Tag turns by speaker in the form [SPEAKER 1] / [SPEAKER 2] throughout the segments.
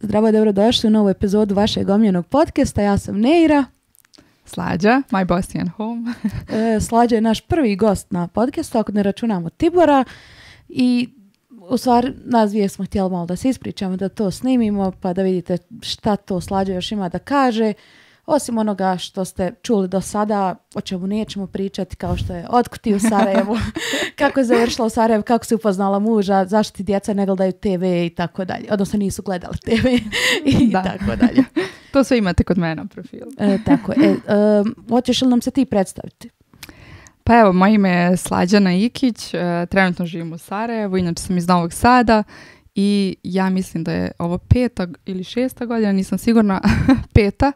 [SPEAKER 1] Zdravo, dobrodošli u novu epizodu vašeg omiljenog podcasta. Ja sam Neira.
[SPEAKER 2] Slađa, my Bosnian home.
[SPEAKER 1] Slađa je naš prvi gost na podcastu, ako ne računamo Tibora. I u stvari nas dvije smo htjeli malo da se ispričamo, da to snimimo, pa da vidite šta to Slađa još ima da kaže. Osim onoga što ste čuli do sada, o čemu nećemo pričati, kao što je otkud ti u Sarajevu, kako je završila u Sarajevu, kako si upoznala muža, zašto ti djeca ne gledaju TV i tako dalje. Odnosno nisu gledali TV i tako dalje.
[SPEAKER 2] To sve imate kod mene na profilu.
[SPEAKER 1] Tako je. Hoćeš li nam se ti predstaviti?
[SPEAKER 2] Pa evo, moje ime je Slađana Ikić, trenutno živim u Sarajevu, inače sam iz Novog Sada i ja mislim da je ovo 5. ili 6. godina, nisam sigurna, 5.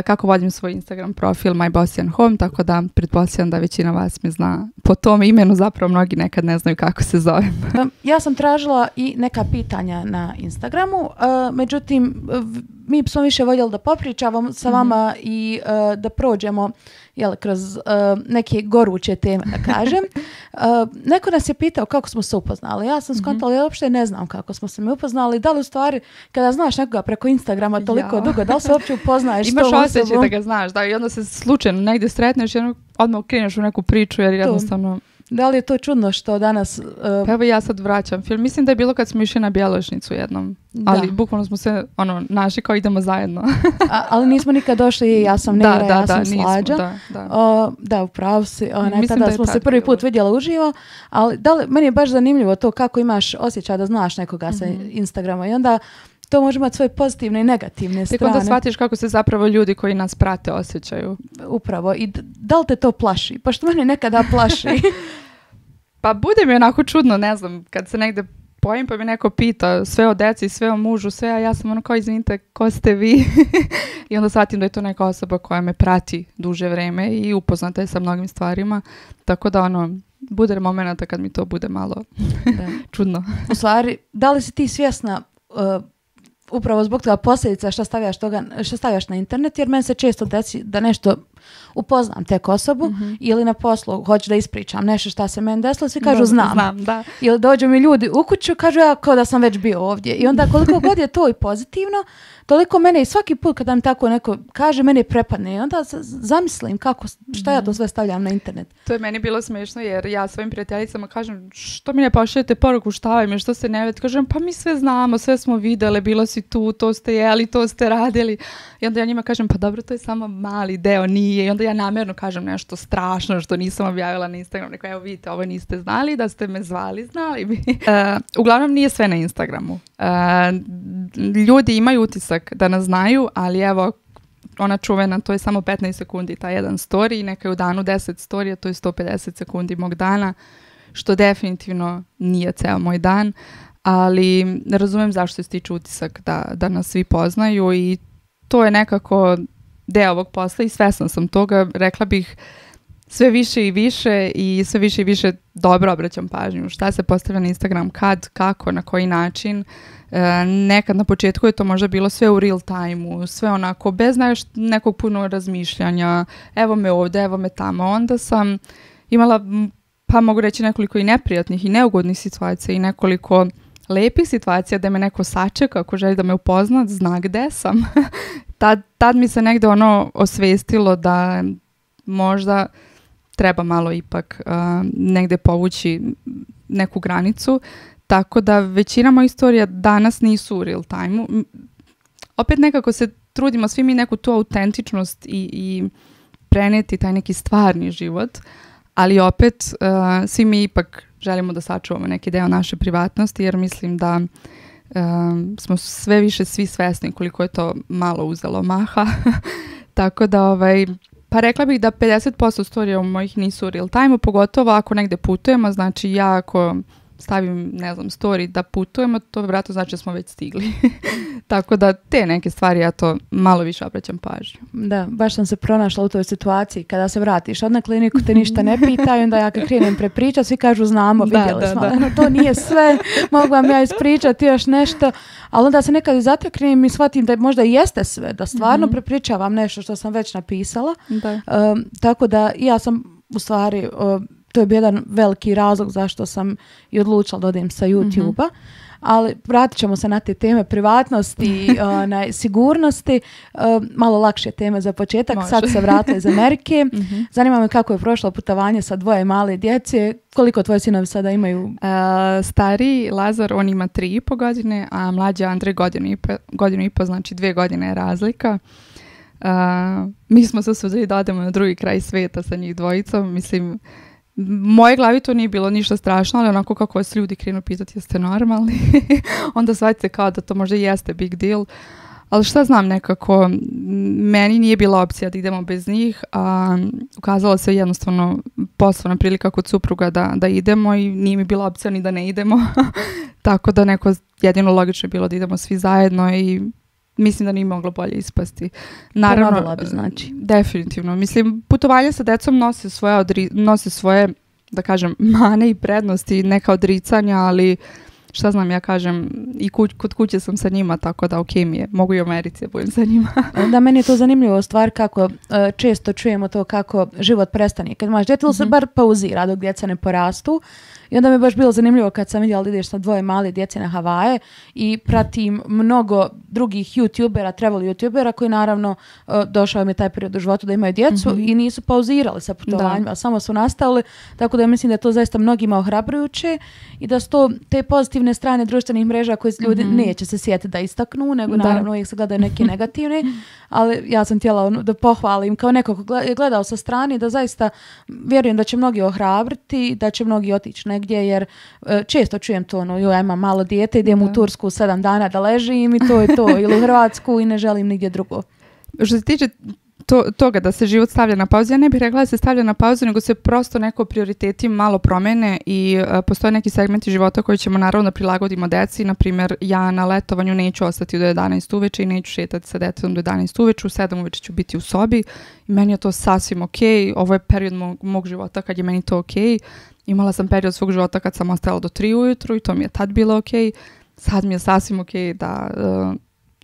[SPEAKER 2] Kako vodim svoj Instagram profil My Bosnian Home, tako da pretpostavljam da većina vas me zna po tom imenu, zapravo mnogi nekad ne znaju kako se zovem.
[SPEAKER 1] Ja sam tražila i neka pitanja na Instagramu, međutim mi smo više voljeli da popričavamo sa vama i da prođemo kroz neke goruće teme, da kažem. Neko nas je pitao kako smo se upoznali. Ja sam skontala, ja uopšte ne znam kako smo se mi upoznali. Da li u stvari, kada znaš nekoga preko Instagrama toliko dugo, da li se uopće upoznaješ s tom osobom?
[SPEAKER 2] Imaš osjećaj da ga znaš, da, i onda se slučajno negdje sretneš i odmah kreneš u neku priču, jer jednostavno...
[SPEAKER 1] Da li je to čudno što danas...
[SPEAKER 2] Pa evo ja sad vraćam film. Mislim da je bilo kad smo išli na Bjelošnicu jednom. Da. Ali bukvalno smo se našli kao idemo zajedno.
[SPEAKER 1] Ali nismo nikad došli, ja sam Neira, ja sam Slađa. Da, upravo si. Tada smo se prvi put vidjela uživo. Ali meni je baš zanimljivo to kako imaš osjećaj da znaš nekoga sa Instagrama. I onda to može imati svoje pozitivne i negativne strane.
[SPEAKER 2] Tek onda shvatiš kako se zapravo ljudi koji nas prate osjećaju.
[SPEAKER 1] Upravo. I da li te to plaši? Pa što mene nekada plaši.
[SPEAKER 2] Pa bude mi onako čudno, ne znam, kad se negde pojim pa mi neko pita sve o deci, sve o mužu, sve, a ja sam kao izvinite, ko ste vi? I onda shvatim da je to neka osoba koja me prati duže vreme i upoznata je sa mnogim stvarima. Tako da bude momenta kad mi to bude malo čudno.
[SPEAKER 1] U stvari, da li si ti svjesna upravo zbog toga posljedica što stavljaš na internet, jer meni se često desi da nešto upoznam tek osobu ili na poslu hoću da ispričam nešto šta se meni desilo, svi kažu znam.
[SPEAKER 2] Da.
[SPEAKER 1] Ili dođu mi ljudi u kuću, kažu ja kao da sam već bio ovdje. I onda koliko god je to i pozitivno, toliko mene i svaki put kada mi tako neko kaže, mene prepadne. I onda zamislim šta ja to sve stavljam na internet.
[SPEAKER 2] To je meni bilo smiješno jer ja svojim prijateljicama kažem što mi ne pošaljete poruku, šta vam je, što se ne vidi. Kažem pa mi sve znamo, sve smo vidjeli, bilo si tu, to ste jeli, to ste radili. I onda ja njima kažem pa dobro, to je samo mali deo, nije. I onda ja namjerno kažem nešto strašno što nisam objavila na Instagramu. Neko, evo vidite, ovo niste znali, da ste me zvali, znali bi. Uglavnom nije sve na Instagramu. Ljudi imaju utisak da nas znaju, ali evo, ona čuvena, to je samo 15 sekundi, taj jedan story, i neka je u danu 10 storija, to je 150 sekundi mog dana, što definitivno nije ceo moj dan, ali ne razumijem zašto se stiče utisak da nas svi poznaju i to je nekako deo ovog posla i svesna sam toga, rekla bih sve više i više i sve više i više dobro obraćam pažnju. Šta se postavlja na Instagram, kad, kako, na koji način. Nekad na početku je to možda bilo sve u real time-u, sve onako bez nekog puno razmišljanja, evo me ovdje, evo me tamo. Onda sam imala, pa mogu reći, nekoliko i neprijatnih i neugodnih situacija i nekoliko lepih situacija da me neko sačeka ako želi da me upozna, zna gde sam. Tad mi se negde osvestilo da možda treba malo ipak negde povući neku granicu, tako da većina mojih istorija danas nisu u real time-u. Opet nekako se trudimo svi mi neku tu autentičnost i preneti taj neki stvarni život, ali opet svi mi ipak želimo da sačuvamo neki deo naše privatnosti, jer mislim da smo sve više svi svesni koliko je to malo uzelo maha. Tako da pa rekla bih da 50% storija mojih nisu u real time-u, pogotovo ako negde putujemo, znači ja ako stavim, ne znam, story da putujemo, to vjerojatno znači da smo već stigli. Tako da te neke stvari ja to malo više obraćam pažnju.
[SPEAKER 1] Da, baš sam se pronašla u toj situaciji kada se vratiš od na kliniku, te ništa ne pitaju, onda ja kad krenem prepričati, svi kažu znamo, vidjeli smo. To nije sve, mogu vam ja ispričati još nešto, ali onda se nekad i zateknem i shvatim da možda i jeste sve, da stvarno prepričavam nešto što sam već napisala. Tako da ja sam u stvari... To je bio jedan veliki razlog zašto sam i odlučila da odem sa YouTube-a. ali vratit ćemo se na te teme privatnosti i sigurnosti. Malo lakše teme za početak.
[SPEAKER 2] Može.
[SPEAKER 1] Sad se vratila iz Amerike. Zanima me kako je prošlo putovanje sa 2 male djece. Koliko tvoji sinovi sada imaju?
[SPEAKER 2] Stariji Lazar, on ima 3,5 godine, a mlađi Andrej godinu i po, znači 2 godine je razlika. Mi smo se sudili da odemo na drugi kraj sveta sa njih dvojicom. Mislim, moje glavi to nije bilo ništa strašno, ali onako kako vas ljudi krenu pitati jeste normalni, onda shvatite kao da to možda jeste big deal. Ali šta znam, nekako, meni nije bila opcija da idemo bez njih, a ukazala se jednostavno poslovna prilika kod supruga da idemo i nije mi bila opcija ni da ne idemo. Tako da neko jedino logično je bilo da idemo svi zajedno i mislim da nije moglo bolje ispasti.
[SPEAKER 1] Naravno, bi znači.
[SPEAKER 2] Definitivno. Mislim, putovanje sa decom nose svoje, da kažem, mane i prednosti, neka odricanja, ali šta znam, ja kažem, i kod kuće sam sa njima, tako da ok mi je. Mogu i u Americi da budem sa njima.
[SPEAKER 1] Da, meni je to zanimljivo stvar kako često čujemo to kako život prestane. Kad imaš djete, se bar pauzira dok djeca ne porastu. I onda mi je baš bilo zanimljivo kad sam vidjela da ideš sa 2 male djece na Havaje i pratim mnogo drugih youtubera, travel youtubera koji naravno došao mi taj period u životu da imaju djecu i nisu pauzirali sa putovanjima, samo su nastavili. Tako da mislim da je to zaista mnogima ohrabrujuće i da su to te pozitivne strane društvenih mreža koje ljudi neće se sjetiti da istaknu, nego naravno uvijek se gledaju neke negativne. Ali ja sam htjela da pohvalim kao neko ko je gledao sa strane da zaista vjerujem da će mnogi ohrabriti, da će mnogi otići negdje, jer često čujem to, ja imam malo dijete, idem u Tursku 7 dana da ležim i to je to, ili u Hrvatsku i ne želim nigdje drugo.
[SPEAKER 2] Što se tiče toga da se život stavlja na pauzu, ja ne bih rekla da se stavlja na pauzu, nego se prosto neko prioriteti malo promene i postoje neki segmenti života koji ćemo naravno da prilagodimo deci. Naprimjer, ja na letovanju neću ostati do 11 uveče i neću šetati sa detetom do 11 uveče, u 7 uveče ću biti u sobi i meni je to sasvim ok. Ovo je period mog života kad je meni to ok. Imala sam period svog života kad sam ostala do 3 ujutru i to mi je tad bilo ok. Sad mi je sasvim ok da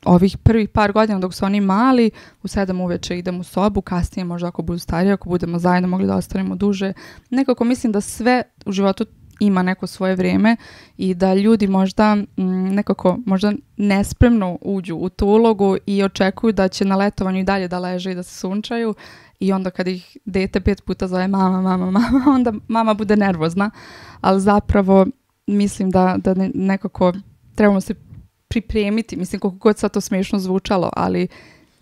[SPEAKER 2] ovih prvih par godina dok su oni mali, u 7 uveče idem u sobu, kasnije možda ako budu stariji, ako budemo zajedno mogli da ostanemo duže. Nekako mislim da sve u životu ima neko svoje vrijeme i da ljudi možda nekako možda nespremno uđu u tu ulogu i očekuju da će na letovanju i dalje da leže i da se sunčaju i onda kad ih dete 5 puta zove mama, onda mama bude nervozna, ali zapravo mislim da nekako trebamo se pripremiti, mislim koliko god sad to smiješno zvučalo, ali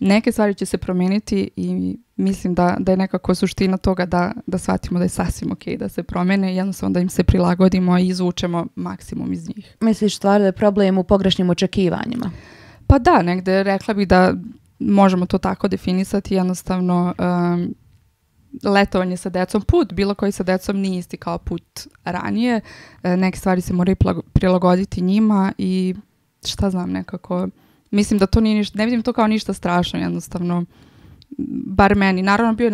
[SPEAKER 2] neke stvari će se promijeniti i mislim da je nekako suština toga da shvatimo da je sasvim ok da se promene i jednostavno da im se prilagodimo i izvučemo maksimum iz njih.
[SPEAKER 1] Misliš stvar da je problem u pogrešnim očekivanjima?
[SPEAKER 2] Pa da, negde rekla bih da možemo to tako definisati, jednostavno letovanje sa decom, put bilo koji sa decom nije isti kao put ranije, neke stvari se moraju prilagoditi njima i šta znam, nekako mislim da to nije ništa, ne vidim to kao ništa strašno, jednostavno bar meni. Naravno bio je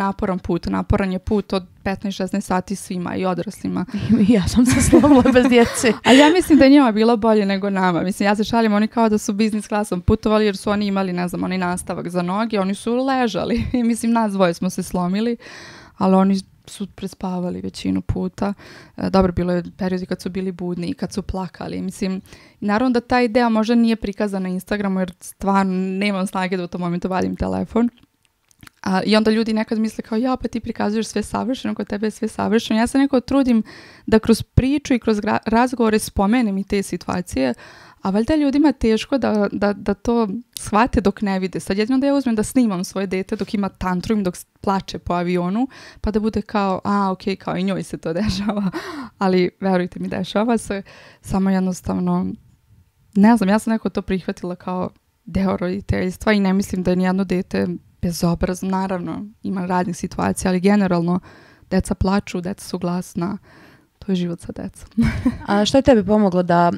[SPEAKER 2] naporan je put od 15-16 sati svima i odraslima.
[SPEAKER 1] Ja sam se slomila bez djece.
[SPEAKER 2] A ja mislim da je njima bilo bolje nego nama. Mislim, ja se šalim, oni kao da su biznis klasom putovali jer su oni imali, ne znam, onaj nastavak za noge, oni su ležali. Mislim, nas dvoje smo se slomili, ali oni su prespavali većinu puta. Dobro, bilo je periodi kad su bili budni i kad su plakali. Mislim, naravno da ta ideja možda nije prikazana na Instagramu jer stvarno nemam snage da u tom momentu vadim telefon. I onda ljudi nekad misle kao ja, pa ti prikazuješ sve savršeno, kod tebe je sve savršeno. Ja se nekako trudim da kroz priču i kroz razgovore spomenem i te situacije, a valjda ljudima je teško da to shvate dok ne vide. Sad jedino da ja uzmem da snimam svoje dete dok ima tantrum, dok plače po avionu, pa da bude kao, ok, kao i njoj se to dešava. Ali verujte mi, dešava se. Samo jednostavno, ne znam, ja sam nekako to prihvatila kao deo roditeljstva i ne mislim da je nijedno dete bezobrazno. Naravno, ima raznih situacija, ali generalno deca plaču, deca su glasna. To je život sa decom.
[SPEAKER 1] A što je tebi pomoglo da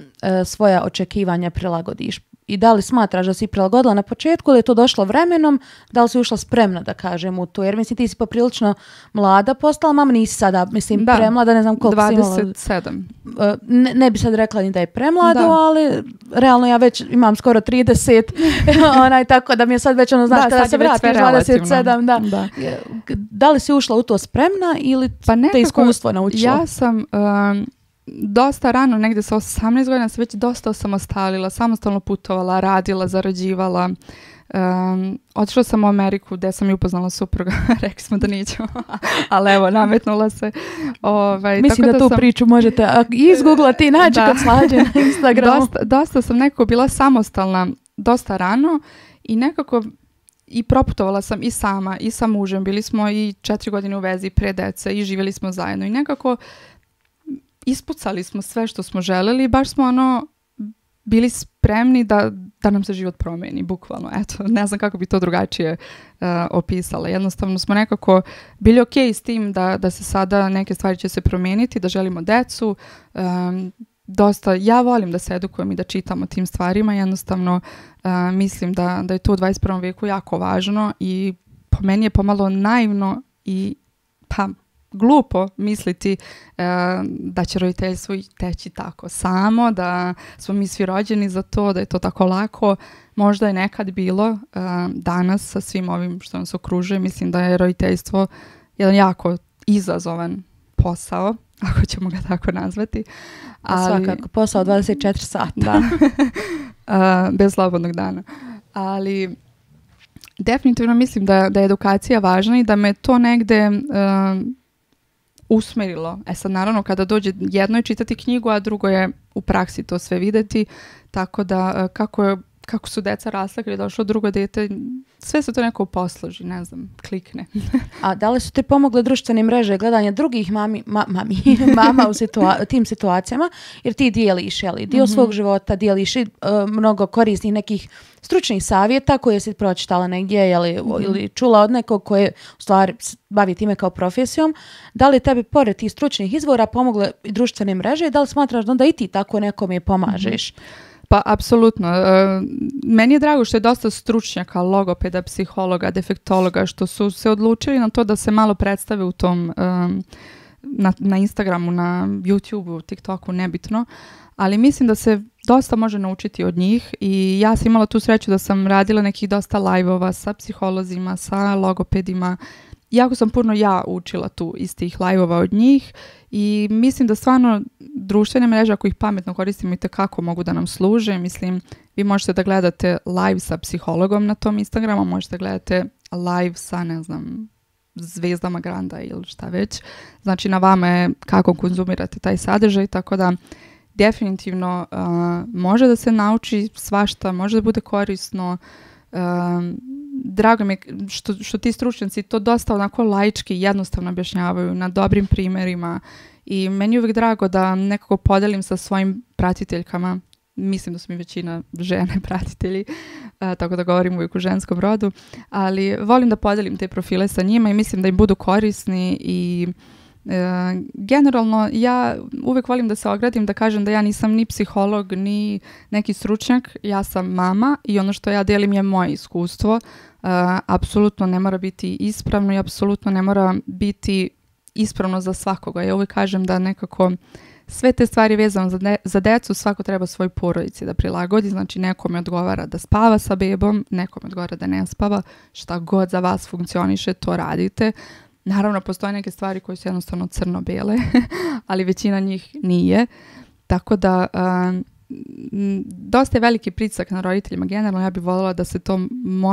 [SPEAKER 1] svoja očekivanja prilagodiš? I da li smatraš da si prilagodila na početku ili je to došlo vremenom, da li si ušla spremna da kažem u to? Jer mislim ti si poprilično mlada postala, mama nisi sada, mislim premlada, ne znam koliko
[SPEAKER 2] 27.
[SPEAKER 1] si imala. Ne bi sad rekla ni da je premlado, ali realno ja već imam skoro 30, tako da mi je sad već ono, znaš, kada se vratiš 27, da li si ušla u to spremna ili te iskustvo naučilo?
[SPEAKER 2] Ja sam dosta rano, negde sa 18 godina se već dosta osamostalila, samostalno putovala, radila, zarađivala. Otišla sam u Ameriku gde sam i upoznala supruga. Rekli smo da nećemo, ali evo, nametnula se.
[SPEAKER 1] Mislim da tu priču možete izgooglati i naći kod Slađe na Instagramu.
[SPEAKER 2] Dosta sam nekako bila samostalna dosta rano i nekako i proputovala sam i sama i sa mužem. Bili smo i 4 godine u vezi pre dece i živjeli smo zajedno i nekako ispucali smo sve što smo želeli i baš smo bili spremni da nam se život promeni, bukvalno. Eto, ne znam kako bi to drugačije opisala. Jednostavno smo nekako bili okej s tim da se sada neke stvari će se promijeniti, da želimo decu. Dosta, ja volim da se edukujem i da čitam o tim stvarima. Jednostavno mislim da je to u 21. vijeku jako važno i po meni je pomalo naivno i glupo misliti da će roditeljstvo teći tako samo, da smo mi svi rođeni za to, da je to tako lako. Možda je nekad bilo, danas sa svim ovim što nas okružuje, mislim da je roditeljstvo jedan jako izazovan posao, ako ćemo ga tako nazvati.
[SPEAKER 1] Ali, svakako, posao 24 sata.
[SPEAKER 2] Da, bez slobodnog dana. Ali definitivno mislim da je edukacija važna i da me to negde usmerilo. Sad naravno kada dođe jedno je čitati knjigu, a drugo je u praksi to sve videti, tako da kako su deca rasla kada je došlo drugo dete, sve se to neko posloži, ne znam, klikne.
[SPEAKER 1] A da li su ti pomogle društvene mreže, gledanje drugih mama u tim situacijama, jer ti dijeliš dio svog života, dijeliš mnogo korisnih nekih stručnih savjeta koje si pročitala negdje ili čula od nekog koje u stvari bavi time kao profesijom. Da li tebi pored tih stručnih izvora pomogle i društvene mreže i da li smatraš da i ti tako nekome pomažeš?
[SPEAKER 2] Pa, apsolutno. Meni je drago što je dosta stručnjaka, logopeda, psihologa, defektologa, što su se odlučili na to da se malo predstave u tom, na Instagramu, na YouTubeu, TikToku, nebitno. Ali mislim da se dosta može naučiti od njih i ja sam imala tu sreću da sam radila nekih dosta live-ova sa psiholozima, sa logopedima. Jako sam puno učila tu iz tih live-ova od njih i mislim da stvarno društvene mreže, ako ih pametno koristimo, i tekako mogu da nam služe. Mislim, vi možete da gledate live sa psihologom na tom Instagramu, možete gledate live sa, ne znam, zvezdama Granda ili šta već. Znači, na vama je kako konzumirate taj sadržaj, tako da definitivno može da se nauči svašta, može da bude korisno. Drago mi je što ti stručnjaci to dosta onako laički jednostavno objašnjavaju na dobrim primjerima i meni je uvijek drago da nekako podelim sa svojim pratiteljkama. Mislim da su mi većina žene pratitelji, tako da govorim uvijek u ženskom rodu, ali volim da podelim te profile sa njima i mislim da im budu korisni i generalno ja uvijek volim da se ogradim, da kažem da ja nisam ni psiholog ni neki stručnjak, ja sam mama i ono što ja delim je moje iskustvo. Apsolutno ne mora biti ispravno i apsolutno ne mora biti ispravno za svakoga. Ja uvijek kažem da nekako sve te stvari vezano za decu svako treba svoj porodici da prilagodi, znači nekome odgovara da spava sa bebom, nekome odgovara da ne spava, šta god za vas funkcioniše, to radite. Naravno, postoje neke stvari koje su jednostavno crno-bele, ali većina njih nije. Tako da dosta je veliki pritisak na roditeljima. Generalno ja bih voljela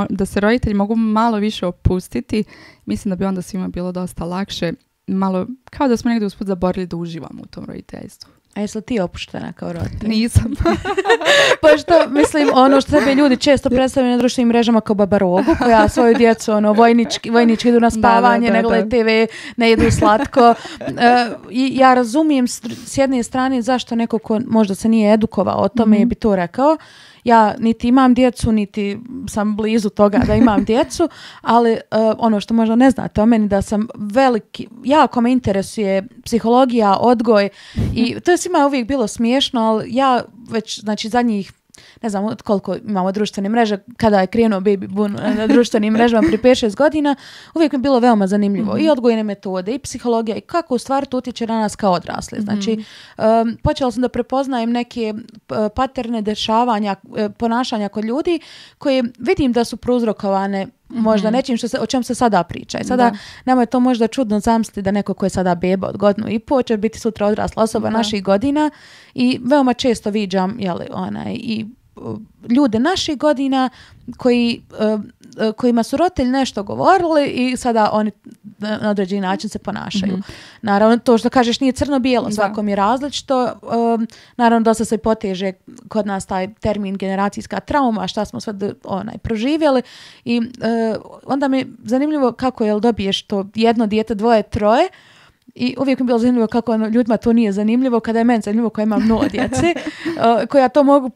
[SPEAKER 2] da se roditelji mogu malo više opustiti. Mislim da bi onda svima bilo dosta lakše. Malo, kao da smo negdje usput zaborili da uživamo u tom roditeljstvu.
[SPEAKER 1] A jesi li ti opuštena kao roditelj?
[SPEAKER 2] Nisam.
[SPEAKER 1] Pošto, mislim, ono što sebe ljudi često predstavljaju na društvenim mrežama kao babarogu, koja svoju djecu vojnički idu na spavanje, ne gledaju TV, ne jedu slatko. I ja razumijem s jedne strane zašto neko ko možda se nije edukovao o tome bi to rekao. Ja niti imam djecu, niti sam blizu toga da imam djecu, ali ono što možda ne znate o meni, da sam jako me interesuje psihologija, odgoj i to je svima uvijek bilo smiješno, ali ja već, znači, zadnjih, ne znam koliko imamo društvene mreže, kada je krenuo baby boom na društvenim mrežama prije 5-6 godina, uvijek mi je bilo veoma zanimljivo. I odgojne metode, i psihologija, i kako u stvari to utječe na nas kao odrasle. Znači, počela sam da prepoznajem neke paterne dešavanja, ponašanja kod ljudi koje vidim da su prouzrokovane možda nečim o čem se sada priča. I sada nama je to možda čudno zamisliti da neko ko je sada beba od 1,5 godinu će biti sutra odrasla osoba naših godina i veoma često viđam i ljude naših godina kojima su roditelji nešto govorili i sada oni na određeni način se ponašaju. Naravno, to što kažeš nije crno-bijelo, svakom je različito. Naravno, dosta se poteže kod nas taj termin generacijska trauma, šta smo sve proživjeli i onda mi je zanimljivo kako dobiješ to jedno dijete, 2, 3 i uvijek mi je bilo zanimljivo kako ljudima to nije zanimljivo, kada je meni zanimljivo koja ima mnogo djece, koja to mogu,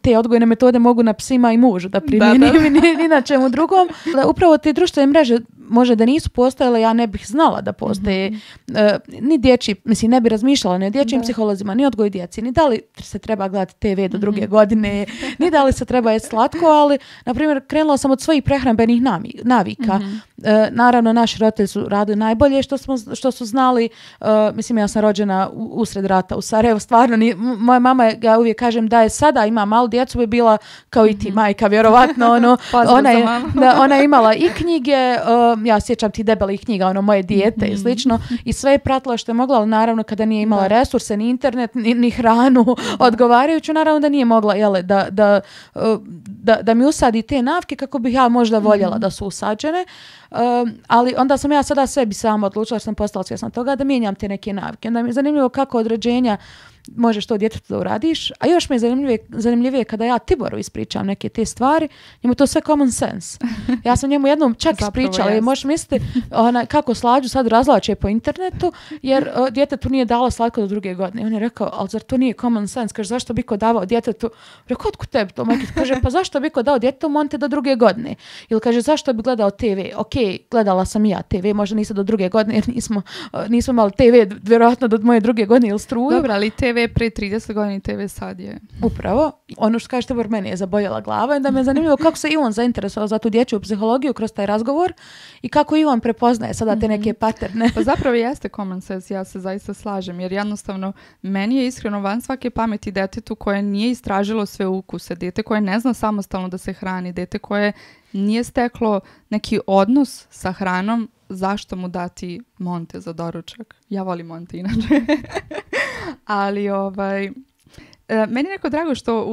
[SPEAKER 1] te odgojne metode mogu na psima i mužu da primjenim ni na čemu drugom. Upravo te društvene mreže može da nisu postojale, ja ne bih znala da postoje ni dječji, mislim ne bi razmišljala ni o dječjim psiholozima, ni odgoju djeci, ni da li se treba gledati TV do 2 godine, ni da li se treba jesti slatko, ali na primjer krenula sam od svojih prehrambenih navika. Naravno naši roditelji su radili najbolje što su znali. Mislim ja sam rođena usred rata u Sarajevu, stvarno moja mama, ja uvijek kažem da je sada ima malu djecu, bi bila kao i ti majka vjerovatno, ona je imala i knjige, ja sjećam ti debelih knjiga, moje dijete i slično, i sve je pratila što je mogla, ali naravno kada nije imala resurse, ni internet, ni hranu odgovarajuću, naravno da nije mogla da mi usadi te navike kako bih ja možda voljela da su usađene. Ali onda sam ja sada sebi sama odlučila, jer sam postala svjesna toga da mijenjam te neke navike. Onda mi je zanimljivo kako od rođenja možeš to djetetu da uradiš, a još mi je zanimljivije kada ja Tiboru ispričam neke te stvari, njemu to sve common sense. Ja sam njemu jednom čak ispričala i možeš misliti kako Slađu sad razlače po internetu, jer djetetu nije dala slatko do 2 godine. I on je rekao, ali zar to nije common sense? Kaže, zašto bi ko davao djetetu? Rekao, otkud tebi to? Kaže, pa zašto bi ko dao djetetu monte do 2 godine? Ili kaže, zašto bi gledao TV? Ok, gledala sam i ja TV, možda nisam do 2 godine, jer nismo imali TV vjerojatno do moje 2 godine ili struju.
[SPEAKER 2] Dobro, ali TV pre 30 godina, TV sad je.
[SPEAKER 1] Upravo. Ono što kažete, meni je zaboljela glava i da me je zanimljivo kako se i on zainteresovao za tu dječju psihologiju kroz taj razgovor i kako i on prepoznaje sada te neke paterne.
[SPEAKER 2] Pa zapravo jeste common sense, ja se zaista slažem, jer jednostavno meni je iskreno van svake pameti detetu koje nije istražilo sve ukuse, dete koje ne zna samostalno da se hrani, dete koje nije steklo neki odnos sa hranom, zašto mu dati monte za doručak? Ja volim monte inače. Ali meni je neko drago što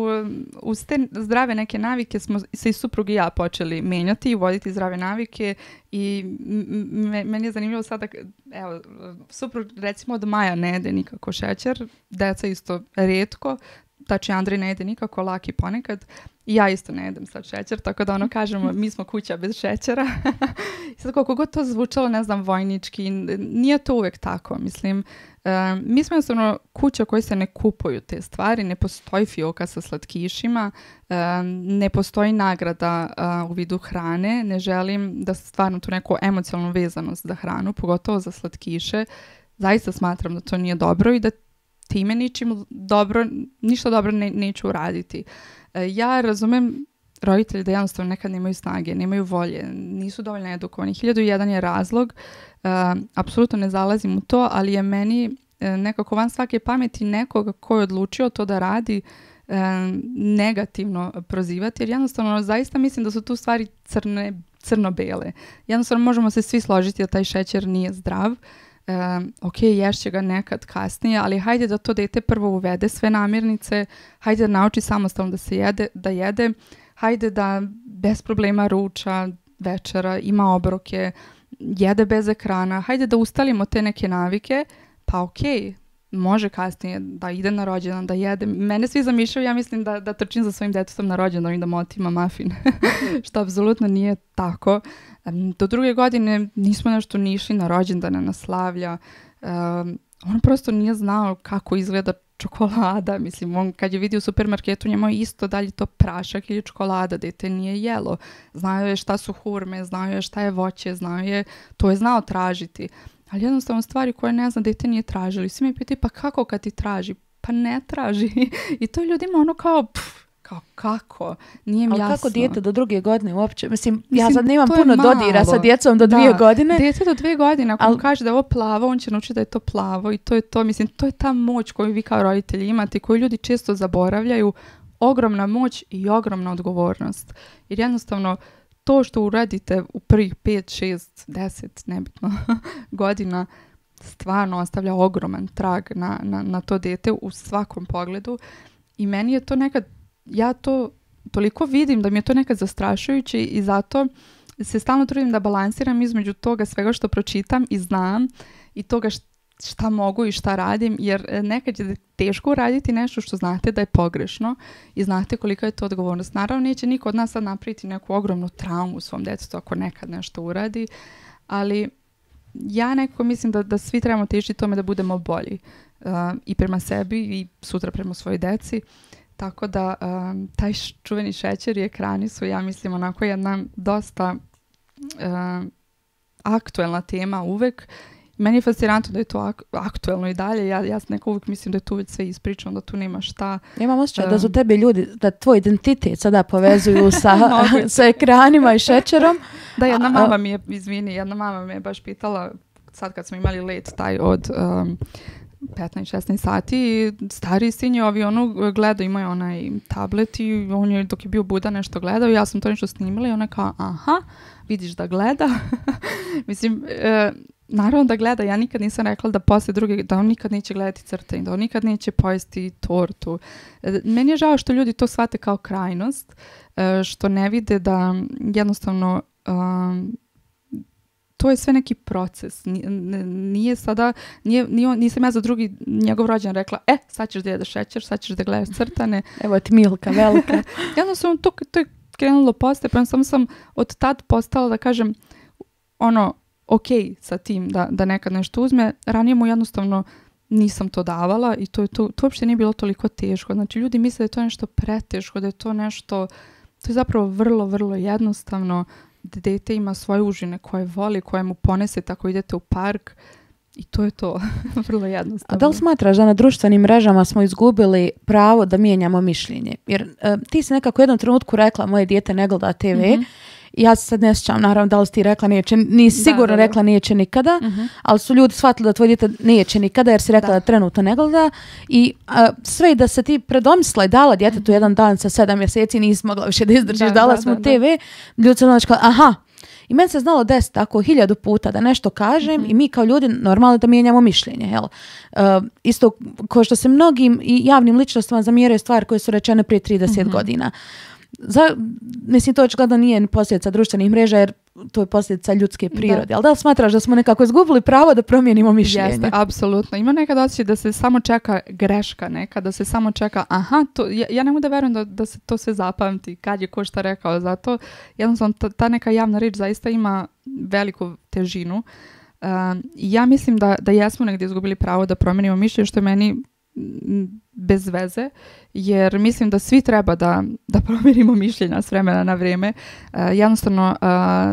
[SPEAKER 2] uz te zdrave neke navike smo se i suprug i ja počeli menjati i voditi zdrave navike i meni je zanimljivo sada, evo, suprug recimo od Maja ne jede nikako šećer, deca isto rijetko, znači Andrej ne jede nikako, Laki ponekad. I ja isto ne jedem sad šećer, tako da kažemo mi smo kuća bez šećera. I sad koliko god to zvučalo, ne znam, vojnički, nije to uvek tako. Mislim, mi smo jednostavno kuća koji se ne kupuju te stvari, ne postoji fioka sa slatkišima, ne postoji nagrada u vidu hrane, ne želim da stvarno tu neku emocionalnu vezanost za hranu, pogotovo za slatkiše. Zaista smatram da to nije dobro i da time ništa dobro neću uraditi. Ja razumem roditelji da jednostavno nekad nemaju snage, nemaju volje, nisu dovoljno edukovani. 1001 je razlog, apsolutno ne zalazim u to, ali je meni nekako van svake pameti nekoga ko je odlučio to da radi negativno prozivati, jer jednostavno zaista mislim da su tu stvari crno-bele. Jednostavno možemo se svi složiti da taj šećer nije zdrav. Ok, ješće ga nekad kasnije, ali hajde da to dete prvo uvede sve namirnice, hajde da nauči samostalno da jede, hajde da bez problema ruča, večera, ima obroke, jede bez ekrana, hajde da ustalimo te neke navike, pa ok, može kasnije da ide na rođendan, da jede. Mene svi zamišljaju, ja mislim da trčim za svojim detetom na rođendan i da motima mafin, što apsolutno nije tako. Do 2 godine nismo nešto ni išli na rođendane, na slavlja. On prosto nije znao kako izgleda čokolada. Mislim, on kad je vidio u supermarketu, njemu je isto da li to prašak ili čokolada, dete nije jelo. Znao je šta su hurme, znao je šta je voće, to je znao tražiti. Ali jednostavno stvari koje ne zna, dete nije tražili. Svi mi pitaju, pa kako kad ti traži? Pa ne traži. I to ljudima kao kako? Nije mi jasno.
[SPEAKER 1] Ali kako dijete do 2 godine uopće? Mislim, ja sad nemam puno dodira sa djecom do 2 godine.
[SPEAKER 2] Dijete do 2 godine, ako mu kaže da je ovo plavo, on će naučiti da je to plavo i to je to. Mislim, to je ta moć koju vi kao roditelji imate, koju ljudi često zaboravljaju. Ogromna moć i ogromna odgovornost. Jer jednostavno, to što uradite u prvih 5, 6, 10, nebitno godina stvarno ostavlja ogroman trag na to dete u svakom pogledu i meni je to nekad, ja to toliko vidim da mi je to nekad zastrašujuće i zato se stalno trudim da balansiram između toga svega što pročitam i znam i toga šta mogu i šta radim, jer nekad je teško uraditi nešto što znate da je pogrešno i znate kolika je to odgovornost. Naravno, neće niko od nas sad napraviti neku ogromnu traumu u svom djetetu ako nekad nešto uradi, ali ja nekako mislim da svi trebamo težiti tome da budemo bolji i prema sebi i sutra prema svojoj deci. Tako da taj čuveni šećer i ekrani su, ja mislim, onako jedna dosta aktuelna tema uvek. Meni je fascinantno da je to aktuelno i dalje. Ja nekako uvijek mislim da je tu već sve ispričano, da tu nema šta.
[SPEAKER 1] Ja imam osjećaj da su tebi ljudi, da tvoj identitet sada povezuju sa ekranima i šećerom.
[SPEAKER 2] Da, jedna mama mi je baš pitala, sad kad smo imali let taj od 15-16 sati i stari sin je u avionu gledao, imao je onaj tablet i on je dok je bio budan nešto gledao i ja sam to nešto snimala i ona kao, aha, vidiš da gleda. Mislim, naravno da gleda, ja nikad nisam rekla da posle druge, da on nikad neće gledati crtanje, da on nikad neće pojesti tortu. Meni je žao što ljudi to shvate kao krajnost, što ne vide da jednostavno to je sve neki proces. Nije sada, nisam ja za drugi njegov rođen rekla, sad ćeš da jedeš šećer, sad ćeš da gledaš crtane.
[SPEAKER 1] Evo ti Milka velika.
[SPEAKER 2] Jednostavno to je krenulo postepeno, samo sam od tad postala da kažem ok sa tim da nekad nešto uzme. Ranije mu jednostavno nisam to davala i to uopšte nije bilo toliko teško. Znači ljudi misle da je to nešto preteško, da je to nešto, to je zapravo vrlo, vrlo jednostavno. Dete ima svoje užine koje voli, koje mu ponese tako idete u park i to je to. Vrlo jednostavno.
[SPEAKER 1] A da li smatraš da na društvenim mrežama smo izgubili pravo da mijenjamo mišljenje? Jer ti si nekako u jednom trenutku rekla moje dijete ne gleda TV. Ja se sad ne sjećam, naravno, da li si ti rekla nisi sigurno rekla neće nikada, ali su ljudi shvatili da tvoj dijete neće nikada jer si rekla da trenutno ne gleda i sve i da se ti predomislila i dala djetetu jedan dan sa 7 mjeseci nisi mogla više da izdržiš, dala smo TV, ljudi se znači aha. I meni se znalo desiti tako 1000 puta da nešto kažem i mi kao ljudi normalno da mijenjamo mišljenje. Jel? Isto kao što se mnogim i javnim ličnostima zamjeraju stvari koje su rečene prije 30 godina. Mislim, to očigledno nije posljedica društvenih mreža jer to je posljedica ljudske prirode. Ali da li smatraš da smo nekako izgubili pravo da promijenimo mišljenje?
[SPEAKER 2] Jeste, apsolutno. Ima nekad osjećaj da se samo čeka greška neka, da se samo čeka ja ne mogu da verujem da se to sve zapamti kad je ko šta rekao. Zato jednostavno ta neka javna riječ zaista ima veliku težinu. Ja mislim da jesmo negdje izgubili pravo da promijenimo mišljenje, što je meni bez veze, jer mislim da svi treba da promijenimo mišljenja s vremena na vrijeme. Jednostavno,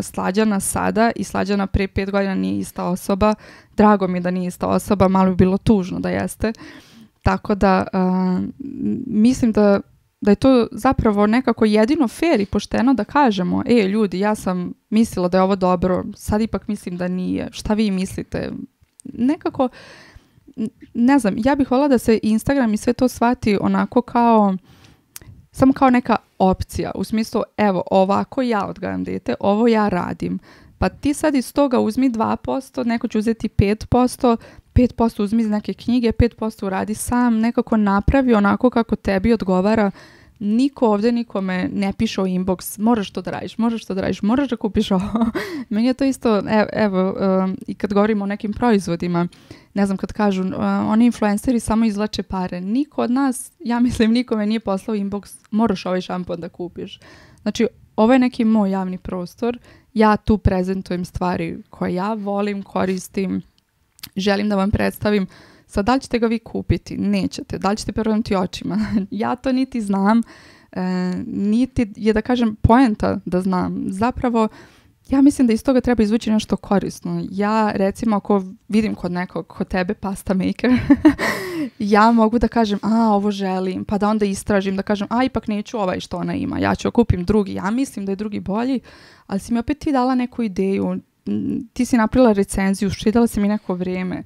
[SPEAKER 2] Slađana sada i Slađana prije 5 godina nije ista osoba. Drago mi je da nije ista osoba, malo bi bilo tužno da jeste. Tako da mislim da je to zapravo nekako jedino fair i pošteno da kažemo, ljudi, ja sam mislila da je ovo dobro, sad ipak mislim da nije. Šta vi mislite? Nekako ne znam, ja bih voljela da se Instagram i sve to shvati onako samo kao neka opcija. U smislu, evo, ovako ja odgajam dete, ovo ja radim. Pa ti sad iz toga uzmi 2%, neko će uzeti 5%, 5% uzmi iz neke knjige, 5% uradi sam, nekako napravi onako kako tebi odgovara. Niko ovdje nikome ne piše o inbox, moraš to da radiš, moraš da kupiš ovo. Meni je to isto, evo, i kad govorimo o nekim proizvodima, ne znam, kad kažu, oni influenceri samo izvlače pare. Niko od nas, ja mislim, nikome nije poslao inbox, moraš ovaj šampon da kupiš. Znači, ovo je neki moj javni prostor, ja tu prezentujem stvari koje ja volim, koristim, želim da vam predstavim. Sad, da li ćete ga vi kupiti? Nećete. Da li ćete prevrnuti očima? Ja to niti znam, niti je, da kažem, poenta da znam. Zapravo, ja mislim da iz toga treba izvući nešto korisno. Ja, recimo, ako vidim kod tebe pasta maker, ja mogu da kažem, ovo želim, pa da onda istražim, da kažem, ipak neću ovaj što ona ima, ja ću kupim drugi, ja mislim da je drugi bolji, ali si mi opet ti dala neku ideju, ti si napravila recenziju, štedala si mi neko vrijeme.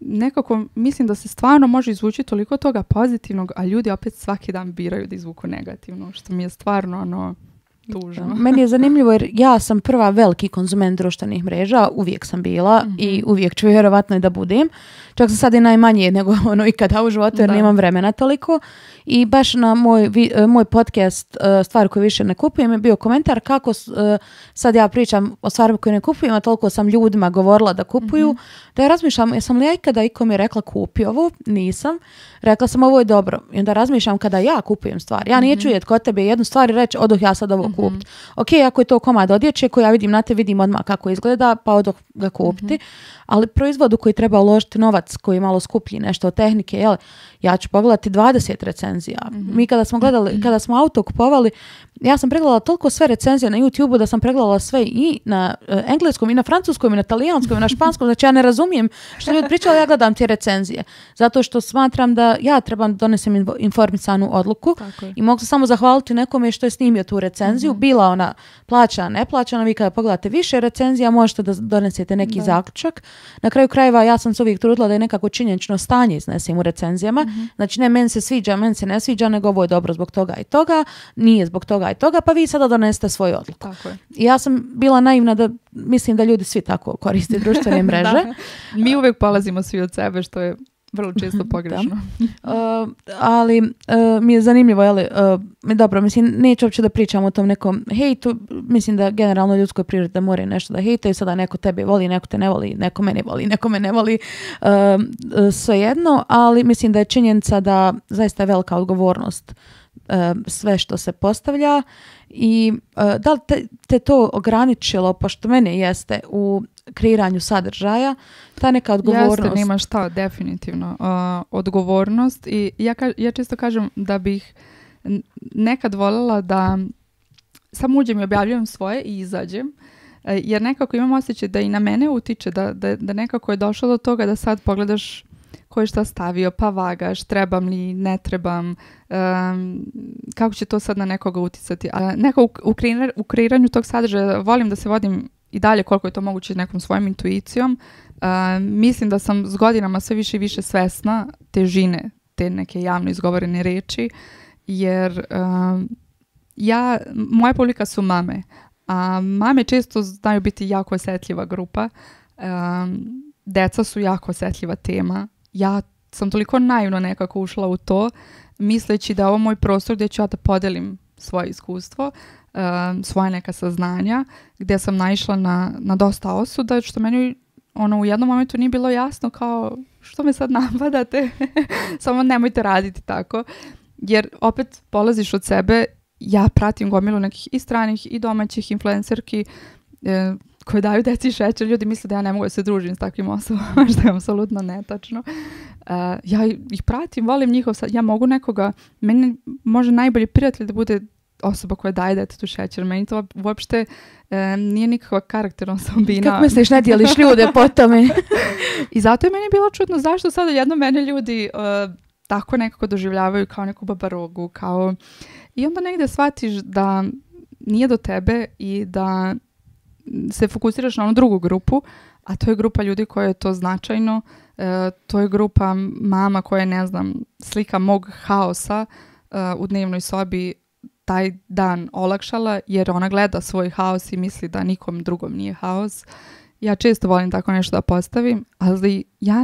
[SPEAKER 2] Nekako mislim da se stvarno može izvući toliko toga pozitivnog, a ljudi opet svaki dan biraju da izvuku negativno, što mi je stvarno tužno.
[SPEAKER 1] Meni je zanimljivo jer ja sam prva veliki konzument društvenih mreža, uvijek sam bila i uvijek ću vjerovatno i da budem. Čak sam sad i najmanje nego ikada u životu jer nemam vremena toliko. I baš na moj podcast Stvari koje više ne kupujem je bio komentar kako sad ja pričam o stvarima koje ne kupujem, a toliko sam ljudima govorila da kupuju, da ja razmišljam, jesam li ja ikada ikome rekla kupi ovo? Nisam. Rekla sam ovo je dobro. I onda razmišljam kada ja kupujem stvari. Ja neću jeti kod tebe jednu stvar i reći odoh ja sad ovo kupiti. Ok, ako je to komad odjeće koji ja vidim na te, vidim odmah kako izgleda, pa odoh ga kupiti. Ali proizvodu koji treba uložiti novac, koji je malo skuplji, nešto od tehnike, ja ću pogledati 20 recenzija. Mi kada smo gledali, kada smo auto kupovali, ja sam pregledala toliko sve recenzije na YouTube-u da sam pregledala sve i na engleskom, i na francuskom, i na talijanskom, i na španskom. Znači ja ne razumijem što ljudi pričali, ja gledam te recenzije. Zato što smatram da ja trebam donesem informisanu odluku i mogu se samo zahvaliti nekome što je snimio tu recenziju. Bila ona plaćana, neplaćana, vi kada pogledate više recenzija možete da donesete neki zaključak. Na kraju krajeva ja sam se uvijek trudila da je nekako činjenično stanje iznesem u recenzijama. Znači ne meni se sviđa, meni se ne sviđa, nego ovo je dobro zbog toga i toga, nije zbog toga i toga, pa vi sada donesete svoju odluku.
[SPEAKER 2] Tako je.
[SPEAKER 1] I ja sam bila naivna da mislim da ljudi svi tako koriste društvene mreže.
[SPEAKER 2] Mi uvijek polazimo svi od sebe, što je vrlo često pogrešno.
[SPEAKER 1] Ali mi je zanimljivo, dobro, mislim, neću uopće da pričam o tom nekom hejtu, mislim da generalno ljudskoj prirodi da moraju nešto da hejtaju, sada neko tebe voli, neko te ne voli, neko mene voli, neko me ne voli, svejedno, ali mislim da je činjenica da zaista je velika odgovornost sve što se postavlja i da li te to ograničilo, pošto mene jeste u kreiranju sadržaja, ta neka odgovornost.
[SPEAKER 2] Jeste, nema šta, definitivno. Odgovornost i ja često kažem da bih nekad voljela da samo uđem i objavljujem svoje i izađem, jer nekako imam osjećaj da i na mene utiče, da nekako je došlo do toga da sad pogledaš ko je šta stavio, pa vagaš, trebam li, ne trebam, kako će to sad na nekoga uticati. Neko u kreiranju tog sadržaja volim da se vodim i dalje koliko je to moguće nekom svojom intuicijom. Mislim da sam s godinama sve više i više svesna težine te neke javno izgovorene reči, jer moja publika su mame, a mame često znaju biti jako osjetljiva grupa. Deca su jako osjetljiva tema. Ja sam toliko naivno nekako ušla u to, misleći da je ovo moj prostor gdje ću ja da podelim svoje iskustvo, svoje neka saznanja, gdje sam naišla na dosta osuda, što meni u jednom momentu nije bilo jasno kao što me sad napadate, samo nemojte raditi tako, jer opet polaziš od sebe. Ja pratim gomilu nekih i stranih i domaćih influencerki koje daju deci šećer. Ljudi misle da ja ne mogu da se družim s takvim osobama, što je apsolutno netačno. Ja ih pratim, volim njihov sad. Ja mogu nekoga, meni može najbolji prijatelj da bude osoba koja daje detetu šećer. Meni to uopšte nije nikakva karakterna osobina.
[SPEAKER 1] Kako misliš, ne dijeliš ljude po tome?
[SPEAKER 2] I zato je meni bilo čudno zašto sada jedno mene ljudi tako nekako doživljavaju kao neku babarogu, kao... I onda negdje shvatiš da nije do tebe i da se fokusiraš na onu drugu grupu, a to je grupa ljudi koja je to značajno, to je grupa mama koja je, ne znam, slika mog haosa u dnevnoj sobi taj dan olakšala, jer ona gleda svoj haos i misli da nikom drugom nije haos. Ja često volim tako nešto da postavim, ali ja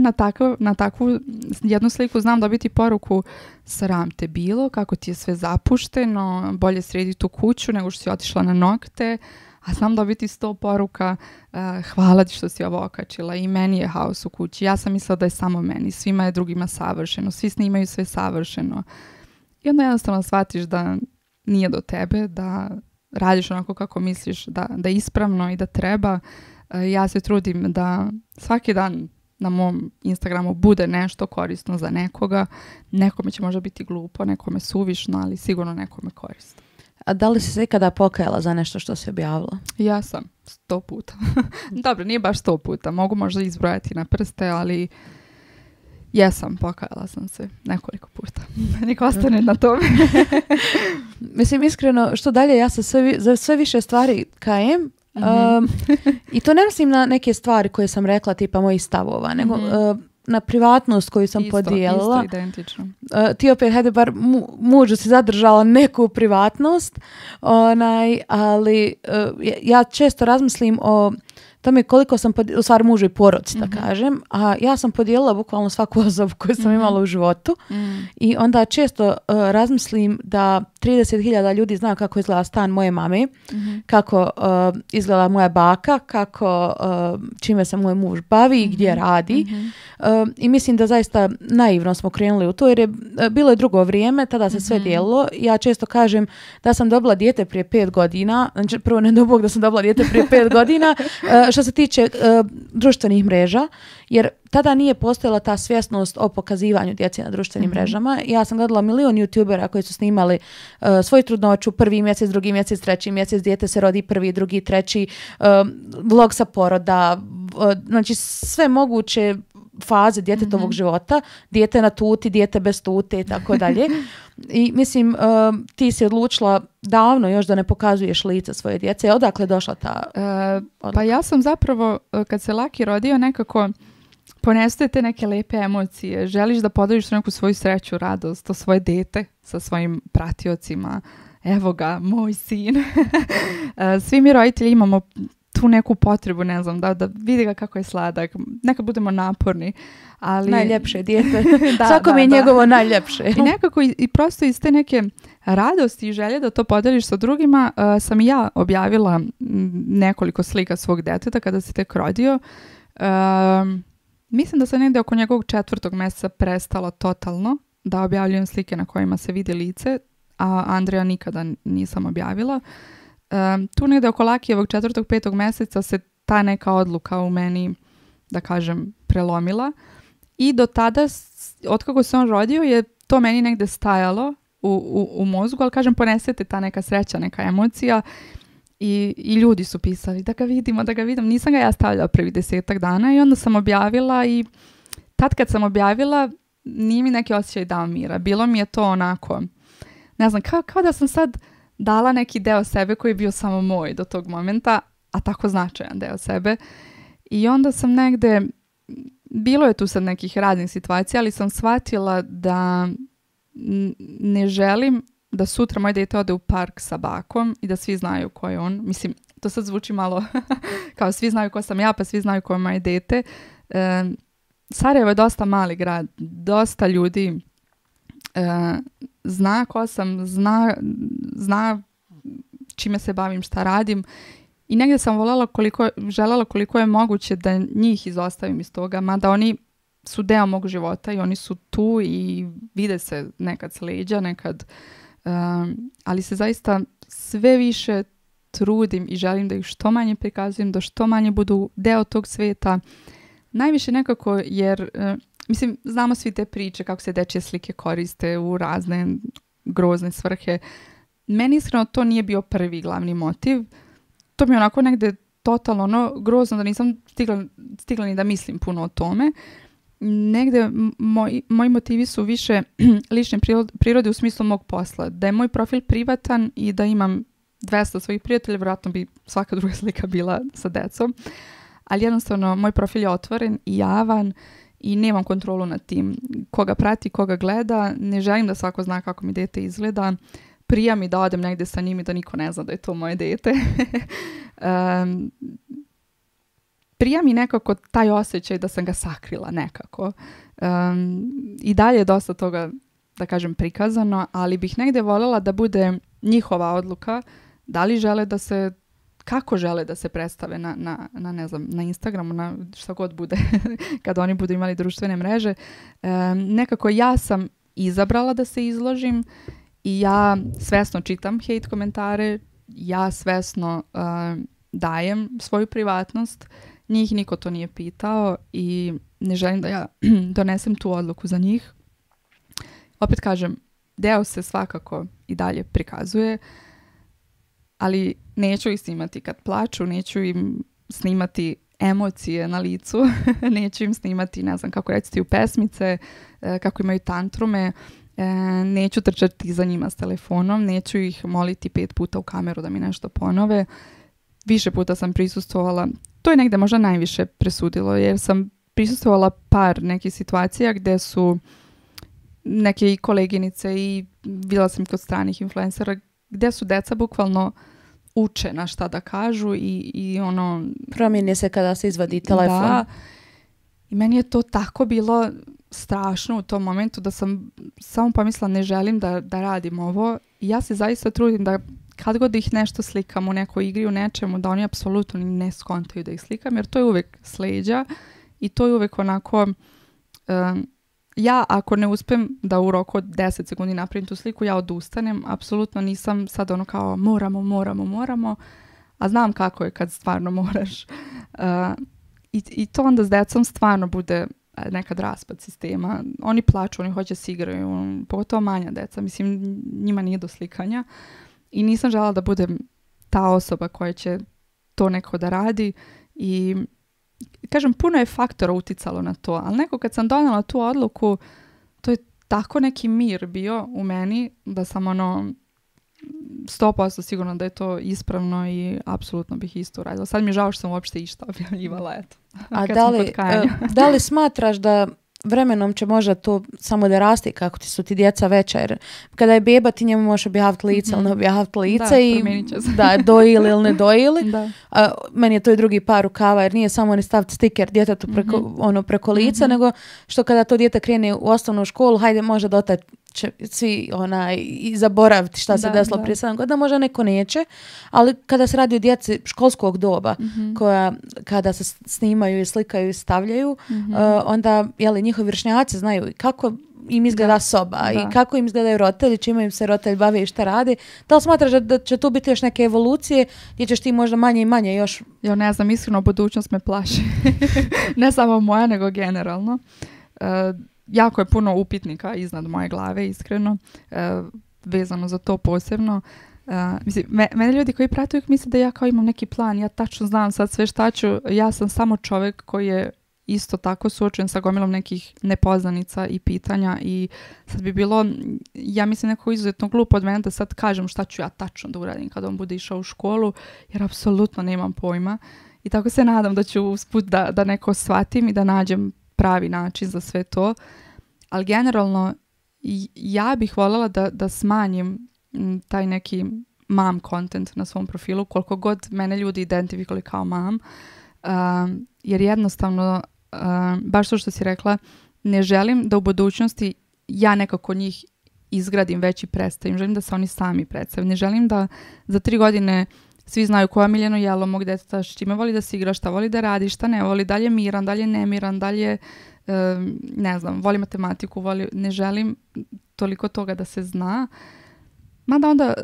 [SPEAKER 2] na takvu jednu sliku znam dobiti poruku: sram te bilo, kako ti je sve zapušteno, bolje sredi tu kuću nego što si otišla na nokte, a znam dobiti 100 poruka: hvala ti što si ovo okačila, i meni je haos u kući, ja sam mislila da je samo meni, svima je drugima savršeno, svi snimaju sve savršeno. I onda jednostavno shvatiš da nije do tebe, da radiš onako kako misliš da je ispravno i da treba. Ja se trudim da svaki dan na mom Instagramu bude nešto korisno za nekoga. Nekome će možda biti glupo, nekome suvišno, ali sigurno nekome korisno.
[SPEAKER 1] A da li si se ikada pokajala za nešto što si objavila?
[SPEAKER 2] Ja sam 100 puta. Dobro, nije baš 100 puta. Mogu možda izbrojati na prste, ali jesam, pokajala sam se nekoliko puta. Nek ostane na tome.
[SPEAKER 1] Mislim, iskreno, što dalje, ja se za sve više stvari kajem. I to ne mislim na neke stvari koje sam rekla, tipa mojih stavova, nego na privatnost koju sam podijelila.
[SPEAKER 2] Isto, identično.
[SPEAKER 1] Ti opet, hajde, bar mužu si zadržala neku privatnost, ali ja često razmislim o tome koliko sam, u stvari mužu i porodici, da kažem, a ja sam podijelila bukvalno svaku osobu koju sam imala u životu i onda često razmislim da 30.000 ljudi zna kako izgleda stan moje mame, kako izgleda moja baka, kako čime se moj muž bavi, gdje radi. I mislim da zaista naivno smo krenuli u to, jer je bilo je drugo vrijeme, tada se sve dijelilo. Ja često kažem da sam dobila dijete prije 5 godina, znači prvo ne do Bog da sam dobila dijete prije 5 godina, što se tiče društvenih mreža, jer tada nije postojala ta svjesnost o pokazivanju djece na društvenim mrežama. Ja sam gledala milion youtubera koji su snimali svoju trudnoću, 1. mjesec, 2. mjesec, 3. mjesec, dijete se rodi 1., 2., 3., vlog sa poroda, znači sve moguće faze djetetovog života, dijete na tuti, dijete bez tute i tako dalje. I mislim, ti si odlučila davno još da ne pokazuješ lice svoje djece. Odakle je došla ta
[SPEAKER 2] pa ja sam zapravo, kad se Laki rodio, nekako ponestuje te neke lepe emocije. Želiš da podeliš neku svoju sreću, radost, to svoje dete sa svojim pratiocima. Evo ga, moj sin. Svi mi roditelji imamo tu neku potrebu, ne znam, da vidi ga kako je sladak. Nekad budemo naporni, ali...
[SPEAKER 1] Najljepše dijete. Svako mi je njegovo najljepše.
[SPEAKER 2] I nekako i prosto iz te neke radosti i želje da to podeliš sa drugima, sam i ja objavila nekoliko slika svog deteta kada se tek rodio. Mislim da sam negdje oko njegovog 4. mjeseca prestala totalno da objavljujem slike na kojima se vidi lice, a Andreja nikada nisam objavila. Tu negdje oko Lakijevog 4. 5. mjeseca se ta neka odluka u meni, da kažem, prelomila i do tada, otkako se on rodio, je to meni negdje stajalo u mozgu, ali kažem, ponesete ta neka sreća, neka emocija i ljudi su pisali da ga vidimo, nisam ga ja stavljala prvih 10 dana i onda sam objavila i tad kad sam objavila nije mi neki osjećaj dao mira, bilo mi je to onako, ne znam, kao da sam sad dala neki deo sebe koji je bio samo moj do tog momenta, a tako značajan deo sebe. I onda sam negde, bilo je tu sad nekih raznih situacija, ali sam shvatila da ne želim da sutra moj dete ode u park sa bakom i da svi znaju ko je on. Mislim, to sad zvuči malo kao svi znaju ko sam ja, pa svi znaju ko je moje dete. Sarajevo je dosta mali grad, dosta ljudi zna ko sam, zna čime se bavim, šta radim i negdje sam željela koliko je moguće da njih izostavim iz toga, mada oni su deo mog života i oni su tu i vide se nekad s leđa, nekad, ali se zaista sve više trudim i želim da ih što manje prikazujem, da što manje budu deo tog svijeta. Najviše nekako jer... Mislim, znamo svi te priče kako se dečje slike koriste u razne grozne svrhe. Meni iskreno to nije bio prvi glavni motiv. To mi je onako negde totalno grozno da nisam stigla ni da mislim puno o tome. Negde moji motivi su više lične prirode u smislu mog posla. Da je moj profil privatan i da imam 200 svojih prijatelja, vjerojatno bi svaka druga slika bila sa decom. Ali jednostavno, moj profil je otvoren i javan i nemam kontrolu nad tim. Koga prati, koga gleda, ne želim da svako zna kako mi dete izgleda. Prija mi da odem negdje sa njim i da niko ne zna da je to moje dete. Prija mi nekako taj osjećaj da sam ga sakrila nekako. I dalje je dosta toga, da kažem, prikazano, ali bih negdje voljela da bude njihova odluka da li žele da se, kako žele da se predstave ne znam, na Instagramu, na šta god bude kad oni budu imali društvene mreže. Nekako ja sam izabrala da se izložim i ja svesno čitam hejt komentare, ja svesno dajem svoju privatnost. Njih niko to nije pitao i ne želim da ja donesem tu odluku za njih. Opet kažem, deo se svakako i dalje prikazuje, ali neću ih snimati kad plaču, neću im snimati emocije na licu, neću im snimati, ne znam kako reciti, u pesmice, kako imaju tantrume, neću trčati za njima s telefonom, neću ih moliti 5 puta u kameru da mi nešto ponove. Više puta sam prisustvovala, to je negde možda najviše presudilo, jer sam prisustvovala par nekih situacija gdje su neke i koleginice i bila sam kod stranih influencera gdje su deca bukvalno uče na šta da kažu i ono...
[SPEAKER 1] Promijeni se kada se izvadi telefon.
[SPEAKER 2] Da. I meni je to tako bilo strašno u tom momentu da sam samo pomislila ne želim da radim ovo. I ja se zaista trudim da kad god ih nešto slikam u nekoj igri, u nečemu, da oni apsolutno ne skontaju da ih slikam, jer to je uvek sleđa i to je uvek onako... ja ako ne uspem da u roku od 10 sekundi napravim tu sliku, ja odustanem. Apsolutno nisam sad ono kao moramo, a znam kako je kad stvarno moraš. I to onda s decom stvarno bude nekad raspad sistema. Oni plaču, oni hoće se igraju, pogotovo manja deca. Mislim, njima nije do slikanja. I nisam željela da budem ta osoba koja će to neko da radi. I kažem, puno je faktora uticalo na to, ali neko kad sam donijela tu odluku, to je tako neki mir bio u meni da sam ono 100% sigurno da je to ispravno i apsolutno bih isto uradila. Sad mi je žao što sam uopšte išta objavljivala, eto.
[SPEAKER 1] A da li smatraš da vremenom će možda to samo da rasti kako su ti djeca veća, jer kada je beba ti njemu možeš objaviti lice ili ne objaviti lice i da, dojili ili ne dojili. Meni je to i drugi par rukava, jer nije samo ni staviti stiker djetetu preko lica, nego što kada to dijete krene u osnovnu školu, hajde možda do tad će svi i zaboraviti šta se desilo prije 7 godina, možda neko neće, ali kada se radi o djeci školskog doba, koja kada se snimaju i slikaju i stavljaju, onda njihovi vršnjaci znaju kako im izgleda soba i kako im izgledaju roditelji, čime im se roditelj bavi i šta radi. Da li smatraš da će tu biti još neke evolucije gdje ćeš ti možda manje i manje još...
[SPEAKER 2] Ja ne znam, iskreno budućnost me plaši. Ne samo moja, nego generalno. Jako je puno upitnika iznad moje glave, iskreno, vezano za to posebno. Mislim, mene ljudi koji prate uvijek misle da ja kao imam neki plan, ja tačno znam sad sve šta ću, ja sam samo čovjek koji je isto tako suočen sa gomilom nekih nepoznanica i pitanja i sad bi bilo, ja mislim, neko izuzetno glupo od mene da sad kažem šta ću ja tačno da uradim kad on bude išao u školu, jer apsolutno nemam pojma i tako se nadam da ću usput da neko shvatim i da nađem pravi način za sve to, ali generalno ja bih voljela da smanjim taj neki mom content na svom profilu, koliko god mene ljudi identifikovali kao mom, jer jednostavno, baš to što si rekla, ne želim da u budućnosti ja nekako njih izgradim već i predstavim, želim da se oni sami predstavim, ne želim da za 3 godine svi znaju koja je Miljano jelo mog deteta, s čime voli da se igra, šta voli da radi, šta ne voli, da li je miran, da li je nemiran, da li je, ne znam, voli matematiku, ne želim toliko toga da se zna. Mada onda,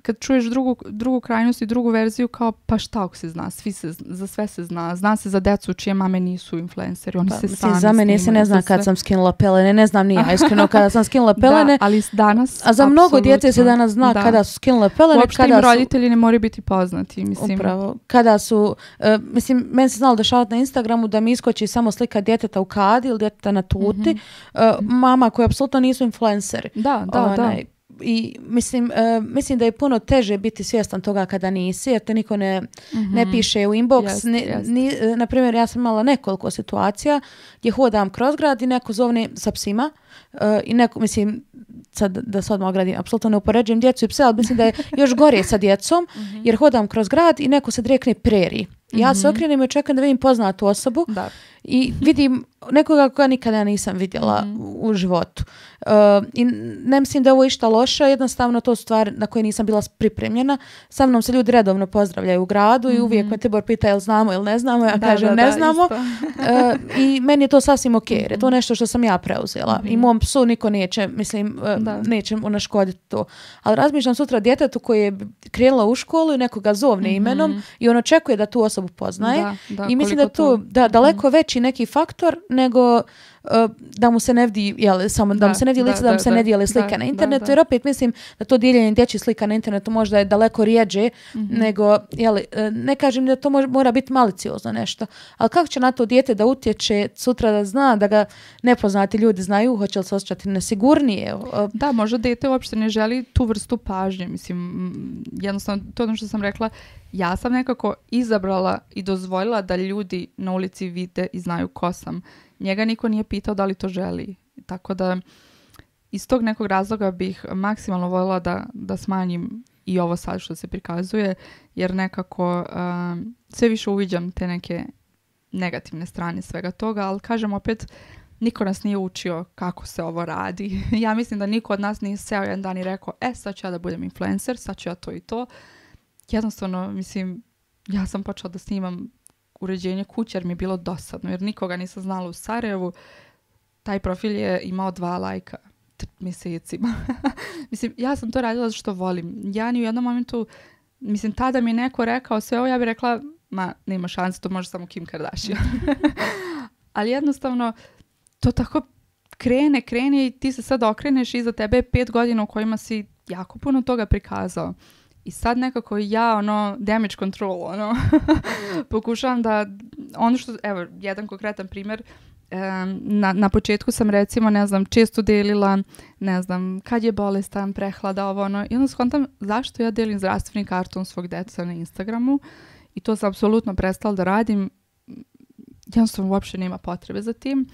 [SPEAKER 2] kad čuješ drugu krajnost i drugu verziju, kao pa šta ako se zna, za sve se zna se za decu čije mame nisu influenceri, oni se sami
[SPEAKER 1] za mene se ne zna kad sam skinula pelene, ne znam ni ja iskreno kada sam skinula pelene,
[SPEAKER 2] da, ali danas,
[SPEAKER 1] a za mnogo djece se danas zna kada su skinule pelene,
[SPEAKER 2] uopšte im roditelji ne moraju biti poznati, mislim.
[SPEAKER 1] Upravo, kada su, mislim, meni se znalo dešavati na Instagramu da mi iskoči samo slika djeteta u kadi ili djeteta na tuti, mama koji apsolutno nisu influenceri.
[SPEAKER 2] Da.
[SPEAKER 1] I mislim da je puno teže biti svjestan toga kada nisi, jer te niko ne piše u inbox. Na primjer, ja sam imala nekoliko situacija gdje hodam kroz grad i neko zovne sa psima i neko, mislim, sad da se odmah ogradim, apsolutno ne upoređujem djecu i pse, ali mislim da je još gore sa djecom, jer hodam kroz grad i neko se rekne preri. Ja se okrenem i očekam da vidim poznatu osobu i vidim nekoga koja nikada nisam vidjela u životu. I ne mislim da je ovo išta loše, jednostavno to su stvari na koje nisam bila pripremljena. Sa mnom se ljudi redovno pozdravljaju u gradu i uvijek me Tibor pita jel znamo ili ne znamo, ja kažem ne znamo. I meni je to sasvim ok, jer je to nešto što sam ja preuzela. I mom psu niko neće, mislim, neće mu naškoditi to. Ali razmišljam sutra djetetu koji je krenula u školu i nekoga zovne imenom i on očekuje da tu osobu poznaje. I mislim da je to daleko veći neki faktor nego da mu se ne vidi, samo da mu se ne vidi lice, da mu se ne dijele slike na internetu, jer opet mislim da to dijeljenje dječjih slika na internetu možda je daleko rijeđe nego, ne kažem da to mora biti maliciozno nešto, ali kako će na to dijete da utječe sutra da zna, da ga nepoznati ljudi znaju, hoće li se osjećati nesigurnije?
[SPEAKER 2] Da, možda dijete uopšte ne želi tu vrstu pažnje, mislim, jednostavno to ono što sam rekla, ja sam nekako izabrala i dozvolila da ljudi na ulici vide i znaju ko sam. Njega niko nije pitao da li to želi. Tako da iz tog nekog razloga bih maksimalno voljela da smanjim i ovo sad što se prikazuje, jer nekako sve više uviđam te neke negativne strane svega toga, ali kažem opet, niko nas nije učio kako se ovo radi. Ja mislim da niko od nas nije seo jedan dan i rekao, sad ću ja da budem influencer, sad ću ja to i to. Jednostavno, mislim, ja sam počela da snimam uređenje kuće jer mi je bilo dosadno, jer nikoga nisam znala u Sarajevu. Taj profil je imao 2 lajka mjesecima. Mislim, ja sam to radila zato što volim. Ja ni u jednom momentu, mislim, tada mi je neko rekao sve ovo, ja bih rekla, ma, nema šanse, to može samo Kim Kardashian. Ali jednostavno, to tako krene i ti se sad okreneš i iza tebe je 5 godina u kojima si jako puno toga prikazao. I sad nekako ja, damage control, pokušavam da, ono što, evo, jedan konkretan primjer, na početku sam recimo, ne znam, često delila, ne znam, kad je bolestan, prehlada, ovo, i onda shvatam zašto ja delim zdravstveni karton svog deca na Instagramu i to sam apsolutno prestala da radim, jednostavno uopšte nema potrebe za tim.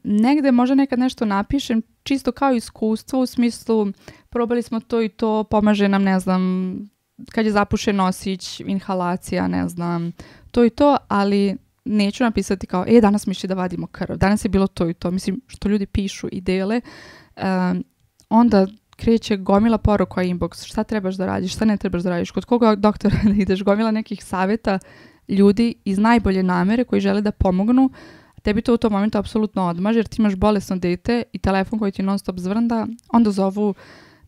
[SPEAKER 2] Negde možda nekad nešto napišem, čisto kao iskustvo u smislu probali smo to i to, pomaže nam, ne znam, kad je zapušen nosić, inhalacija, ne znam, to i to, ali neću napisati kao, danas mi išli da vadimo krv, danas je bilo to i to, mislim, što ljudi pišu i dele, onda kreće gomila poruka inbox, šta trebaš da radiš, šta ne trebaš da radiš, kod koga doktora da ideš, gomila nekih savjeta ljudi iz najbolje namere koji žele da pomognu. Tebi to u tom momentu apsolutno odmaže jer ti imaš bolesno dete i telefon koji ti non stop zvrnda, onda zovu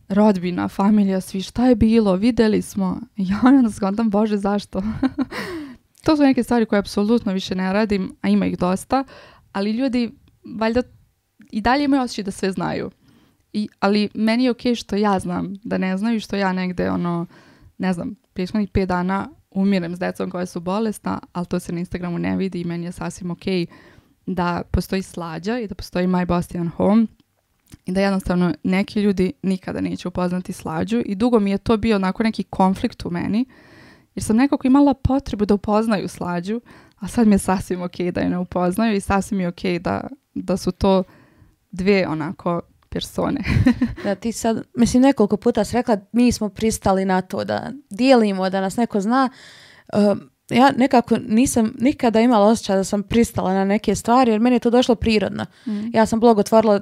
[SPEAKER 2] rodbina, familija, svi, šta je bilo, videli smo. I ja onda skontam, Bože, zašto? To su neke stvari koje apsolutno više ne radim, a ima ih dosta, ali ljudi valjda i dalje imaju osjećaj da sve znaju. Ali meni je okej što ja znam da ne znaju, što ja negde, ne znam, prethodnih 5 dana umirem s decom koja su bolesna, ali to se na Instagramu ne vidi i meni je sasvim okej da postoji Slađa i da postoji My Bostian Home i da jednostavno neki ljudi nikada neće upoznati Slađu i dugo mi je to bio onako neki konflikt u meni jer sam nekako imala potrebu da upoznaju Slađu, a sad mi je sasvim okej da je ne upoznaju i sasvim je okej da su to 2 onako persone.
[SPEAKER 1] Da, ti sad, mislim, nekoliko puta si rekla, mi smo pristali na to da dijelimo, da nas neko zna. Ja nekako nisam nikada imala osjećaj da sam pristala na neke stvari, jer meni je to došlo prirodno. Ja sam blog otvorila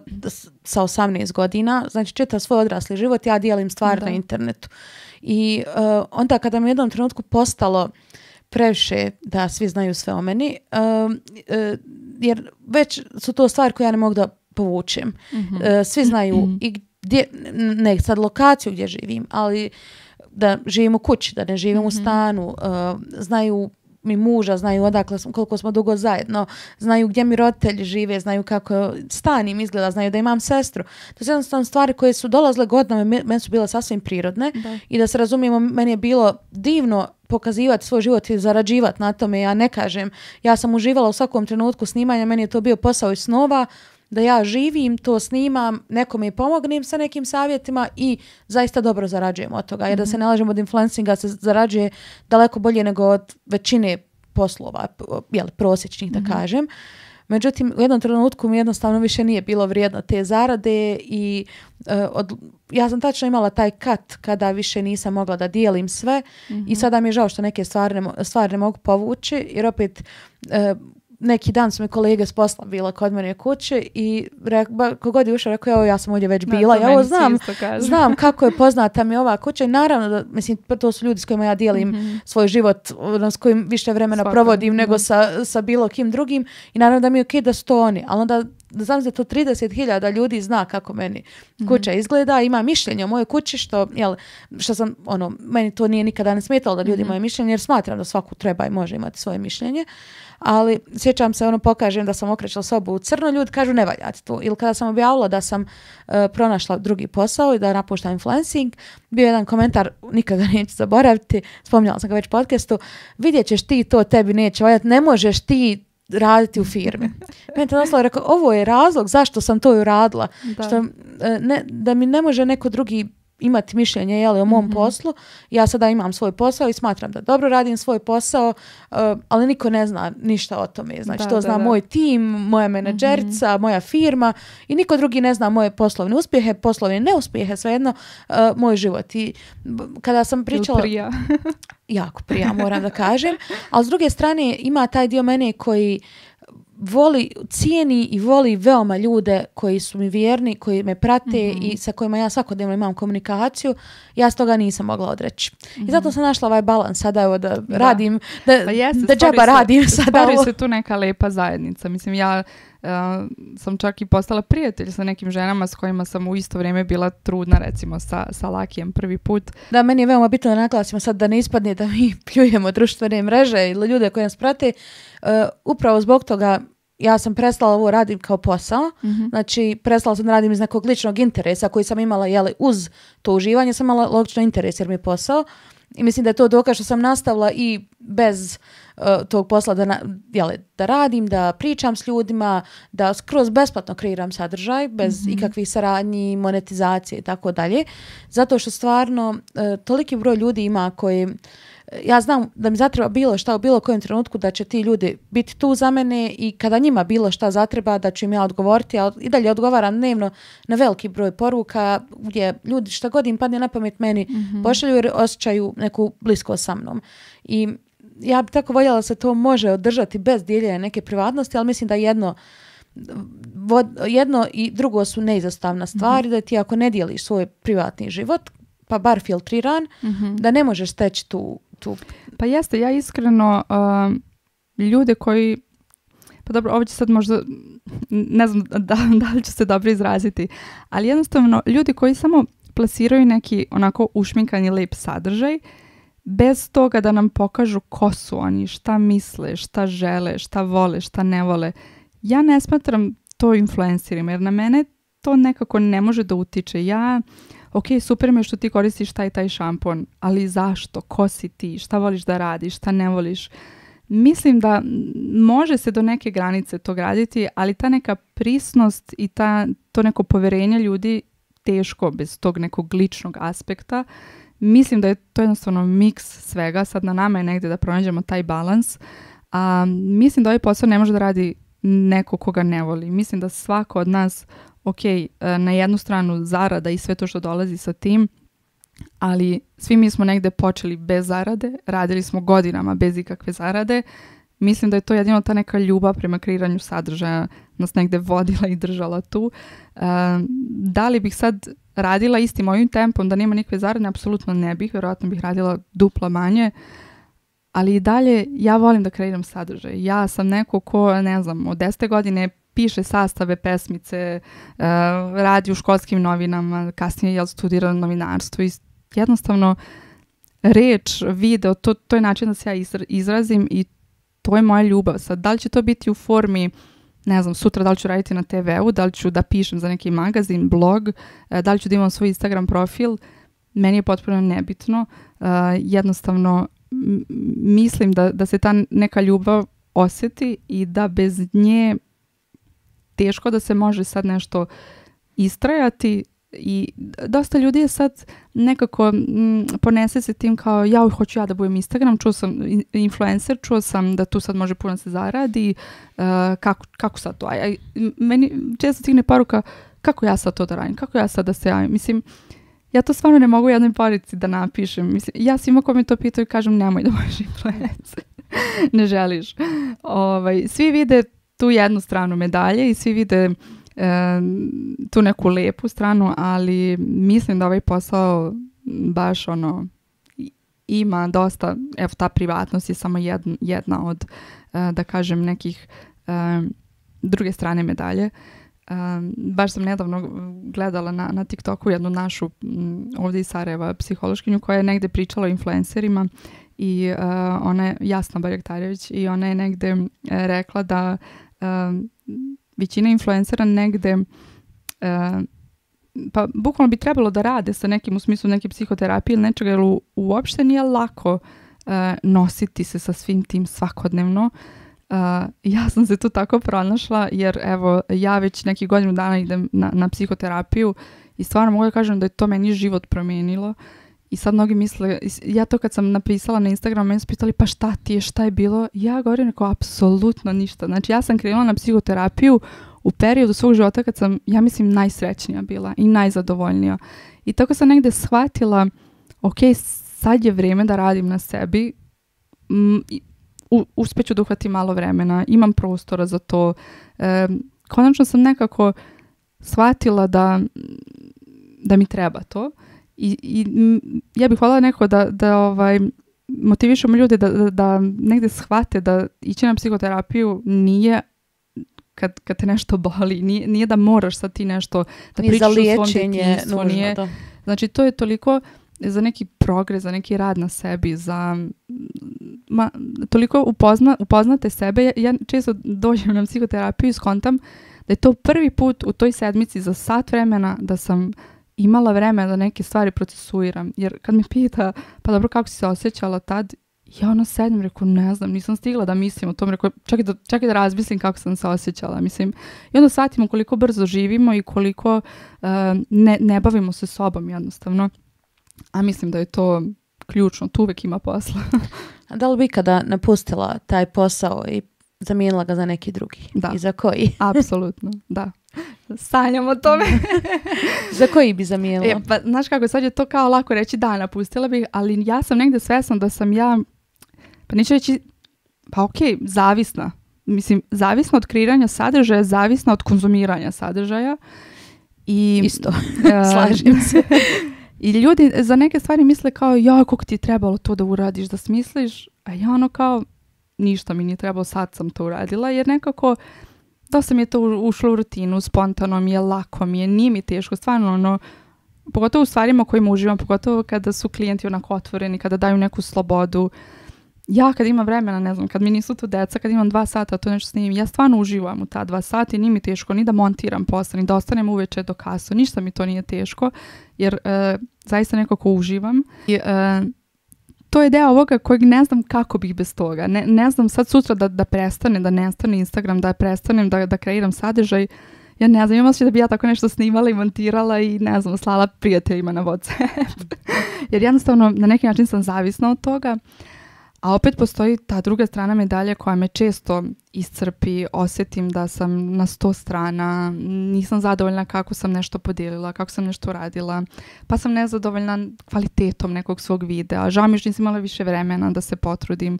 [SPEAKER 1] sa 18 godina, znači čitav svoj odrasli život, ja dijelim stvari na internetu. I onda kada mi u jednom trenutku postalo previše da svi znaju sve o meni, jer već su to stvari koje ja ne mogu da povučem. Svi znaju i gdje, ne sad lokaciju gdje živim, ali da živim u kući, da ne živim u stanu, znaju mi muža, znaju odakle smo, koliko smo dugo zajedno, znaju gdje mi roditelji žive, znaju kako stan im izgleda, znaju da imam sestru. To su jednostavno stvari koje su dolazile godinama, meni su bile sasvim prirodne i da se razumijemo, meni je bilo divno pokazivati svoj život i zarađivati na tome. Ja ne kažem, ja sam uživala u svakom trenutku snimanja, meni je to bio posao iz snova, da ja živim, to snimam, nekome i pomognem sa nekim savjetima i zaista dobro zarađujem od toga. Jer da se ne lažemo, od influencinga se zarađuje daleko bolje nego od većine poslova, prosječnih da kažem. Međutim, u jednom trenutku mi jednostavno više nije bilo vrijedno te zarade i ja sam tačno imala taj kat kada više nisam mogla da dijelim sve i sada mi je žao što neke stvari ne mogu povući, jer opet neki dan su mi kolege s posla bila kod mene kuće i kogod je ušao rekao, evo ja sam ovdje već bila, ja ovo znam kako je poznata mi ova kuća i naravno da, mislim, to su ljudi s kojima ja dijelim svoj život, s kojim više vremena provodim nego sa bilo kim drugim i naravno da mi je okej da su to oni, ali onda znam da to 30.000 ljudi zna kako meni kuća izgleda, ima mišljenje o mojoj kući, što sam, meni to nije nikada ne smetalo da ljudi imaju mišljenje, jer smatram da svaku treba i može imati svoje mišljenje. Ali sjećam se, pokažem da sam okrećala sobu u crno, ljudi kažu ne valja ti to. Ili kada sam objavila da sam pronašla drugi posao i da napuštam influencing, bio jedan komentar, nikada neću zaboraviti, spominjala sam ga već u podcastu, vidjet ćeš ti to, tebi neće valjati, ne možeš ti raditi u firmi. Meni to doslovno rekao, ovo je razlog zašto sam to uradila. Da mi ne može neko drugi imati mišljenje o mom poslu. Ja sada imam svoj posao i smatram da dobro radim svoj posao, ali niko ne zna ništa o tome. Znači, to zna moj tim, moja menadžerica, moja firma i niko drugi ne zna moje poslovne uspjehe, poslovne neuspjehe, svejedno moj život. I kada sam pričala... jako prija, moram da kažem. Ali s druge strane ima taj dio mene koji cijeni i voli veoma ljude koji su mi vjerni, koji me prate i sa kojima ja svakodnevno imam komunikaciju. Ja s toga nisam mogla odreći. I zato sam našla ovaj balans sada da radim, da džaba radim sada.
[SPEAKER 2] Stvori se tu neka lepa zajednica. Mislim, ja sam čak i postala prijatelj sa nekim ženama s kojima sam u isto vrijeme bila trudna, recimo sa Lakijem prvi put.
[SPEAKER 1] Da, meni je veoma bitno da naglasimo sad da ne ispadne da mi pljujemo društvene mreže ili ljude koji nas prate. Upravo zbog toga ja sam prestala ovo radim kao posao. Znači, prestala sam da radim iz nekog ličnog interesa koji sam imala, uz to uživanje sam imala logično interes jer mi je posao. I mislim da je to dokaz što sam nastavila i bez tog posla da radim, da pričam s ljudima, da skroz besplatno kreiram sadržaj, bez ikakvih saradnji, monetizacije i tako dalje. Zato što stvarno toliki broj ljudi ima koji... Ja znam da mi zatreba bilo šta u bilo kojem trenutku da će ti ljudi biti tu za mene i kada njima bilo šta zatreba da ću im ja odgovoriti, a i dalje odgovaram dnevno na veliki broj poruka gdje ljudi šta god im padne na pamet meni pošalju jer osjećaju neku bliskost sa mnom. I ja bi tako voljela da se to može održati bez dijeljenja neke privatnosti, ali mislim da jedno i drugo su neizostavna stvari, da ti ako ne dijeliš svoj privatni život, pa bar filtriran, da ne možeš steći tu.
[SPEAKER 2] Pa jeste, ja iskreno ljude koji, pa dobro, ovo će sad možda, ne znam da li ću se dobro izraziti, ali jednostavno ljudi koji samo plasiraju neki onako ušminkani lep sadržaj, bez toga da nam pokažu ko su oni, šta misle, šta žele, šta vole, šta ne vole. Ja ne smatram to influencerima, jer na mene to nekako ne može da utiče. Ok, super mi je što ti koristiš taj šampon, ali zašto? Ko si ti? Šta voliš da radiš? Šta ne voliš? Mislim da može se do neke granice to graditi, ali ta neka prisnost i to neko poverenje ljudi teško bez tog nekog ličnog aspekta. Mislim da je to jednostavno miks svega. Sad na nama je negdje da pronađemo taj balans. Mislim da ovaj posao ne može da radi neko koga ne voli. Mislim da svako od nas na jednu stranu zarada i sve to što dolazi sa tim, ali svi mi smo negde počeli bez zarade, radili smo godinama bez ikakve zarade. Mislim da je to jedino ta neka ljubav prema kreiranju sadržaja nas negde vodila i držala tu. Da li bih sad radila istim ovim tempom da nema nikakve zarade? Apsolutno ne bih, vjerojatno bih radila dupla manje, ali i dalje ja volim da kreiram sadržaj. Ja sam neko ko, ne znam, od 10. godine piše sastave, pesmice, radi u školskim novinama, kasnije studira novinarstvo i jednostavno reč, video, to je način da se ja izrazim i to je moja ljubav. Sad, da li će to biti u formi, ne znam, sutra da li ću raditi na TV-u, da li ću da pišem za neki magazin, blog, da li ću da imam svoj Instagram profil, meni je potpuno nebitno. Jednostavno mislim da se ta neka ljubav osjeti i da bez nje teško da se može sad nešto istrajati i dosta ljudi je sad nekako ponese se tim kao hoću ja da budem Instagram, čuo sam influencer, čuo sam da tu sad može puno se zaradi, kako sad to? Meni često stigne poruka kako ja sad to da radim, kako ja sad da se javim. Mislim, ja to stvarno ne mogu u jednoj poruci da napišem. Mislim, ja svima ko mi to pitaju kažem nemoj da budeš influencer. Ne želiš. Svi vide tu jednu stranu medalje i svi vide tu neku lepu stranu, ali mislim da ovaj posao baš ima dosta, ta privatnost je samo jedna od, da kažem, nekih druge strane medalje. Baš sam nedavno gledala na TikToku jednu našu ovdje iz Sarajeva psihološkinju koja je negde pričala o influencerima i ona je Jasna Barjaktarević i ona je negde rekla da većina influencera negde pa bukvalno bi trebalo da rade sa nekim u smislu neke psihoterapije ili nečega, jer uopšte nije lako nositi se sa svim tim svakodnevno. Ja sam se tu tako pronašla jer evo ja već neki godinu dana idem na psihoterapiju i stvarno mogu da kažem da je to meni život promijenilo. I sad mnogi misle, ja to kad sam napisala na Instagramu, meni su pitali pa šta ti je, šta je bilo? Ja govorim neko apsolutno ništa. Znači ja sam krenula na psihoterapiju u periodu svog života kad sam, ja mislim, najsrećnija bila i najzadovoljnija. I tako sam negde shvatila, ok, sad je vrijeme da radim na sebi, uspjeću da uhvatim malo vremena, imam prostora za to. Konačno sam nekako shvatila da mi treba to. I ja bih voljela neko da motivišemo ljude da negde shvate da ići na psihoterapiju nije kad te nešto boli, nije da moraš sad ti nešto da pričaš o svom djetinjstvu. Znači to je toliko za neki progres, za neki rad na sebi, za toliko upoznate sebe. Ja često dođem na psihoterapiju i skontam da je to prvi put u toj sedmici za sat vremena da sam imala vreme da neke stvari procesuiram. Jer kad me pita, pa dobro, kako si se osjećala tad, ja sedem, rekao, ne znam, nisam stigla da mislim o tom, rekao, čekaj da razmislim kako sam se osjećala. Mislim, i onda shvatimo koliko brzo živimo i koliko ne bavimo se sobom jednostavno. A mislim da je to ključno, tu uvijek ima posla.
[SPEAKER 1] A da li bi kada napustila taj posao i zamijenila ga za neki drugi?
[SPEAKER 2] Da.
[SPEAKER 1] I za koji?
[SPEAKER 2] Apsolutno, da. Sanjam o tome.
[SPEAKER 1] Za koji bi zamijenila?
[SPEAKER 2] Pa, znaš kako, sad je to kao lako reći da, napustila bih, ali ja sam negdje svesna da sam ja, pa neću reći, pa okej, zavisna. Mislim, zavisna od kreiranja sadržaja, zavisna od konzumiranja sadržaja.
[SPEAKER 1] Isto, slažem se.
[SPEAKER 2] I ljudi za neke stvari misle kao, ja, kako ti je trebalo to da uradiš, da smisliš, a ja kao, ništa mi nije trebalo, sad sam to uradila, jer nekako dosta mi je to ušlo u rutinu, spontano mi je, lako mi je, nije mi teško, stvarno, pogotovo u stvarima kojima uživam, pogotovo kada su klijenti onako otvoreni, kada daju neku slobodu. Ja kad imam vremena, ne znam, kad mi nisu tu deca, kad imam 2 sata to nešto snimim, ja stvarno uživam u ta 2 sata i nije mi teško ni da montiram posle, ni da ostanem uveče do kasno, ništa mi to nije teško, jer zaista nekako uživam. I to je deo ovoga kojeg ne znam kako bih bez toga. Ne znam sad sutra da prestane, da nestane Instagram, da prestanem da kreiram sadržaj. Ja ne znam, imam osjećaj da bi ja tako nešto snimala i montirala i ne znam, slala prijateljima na WhatsApp. Jer jednostavno na neki način sam zavisna od toga. A opet postoji ta druga strana medalje koja me često iscrpi, osjetim da sam na 100 strana, nisam zadovoljna kako sam nešto podijelila, kako sam nešto radila, pa sam nezadovoljna kvalitetom nekog svog videa, žao mi što nisam imala više vremena da se potrudim,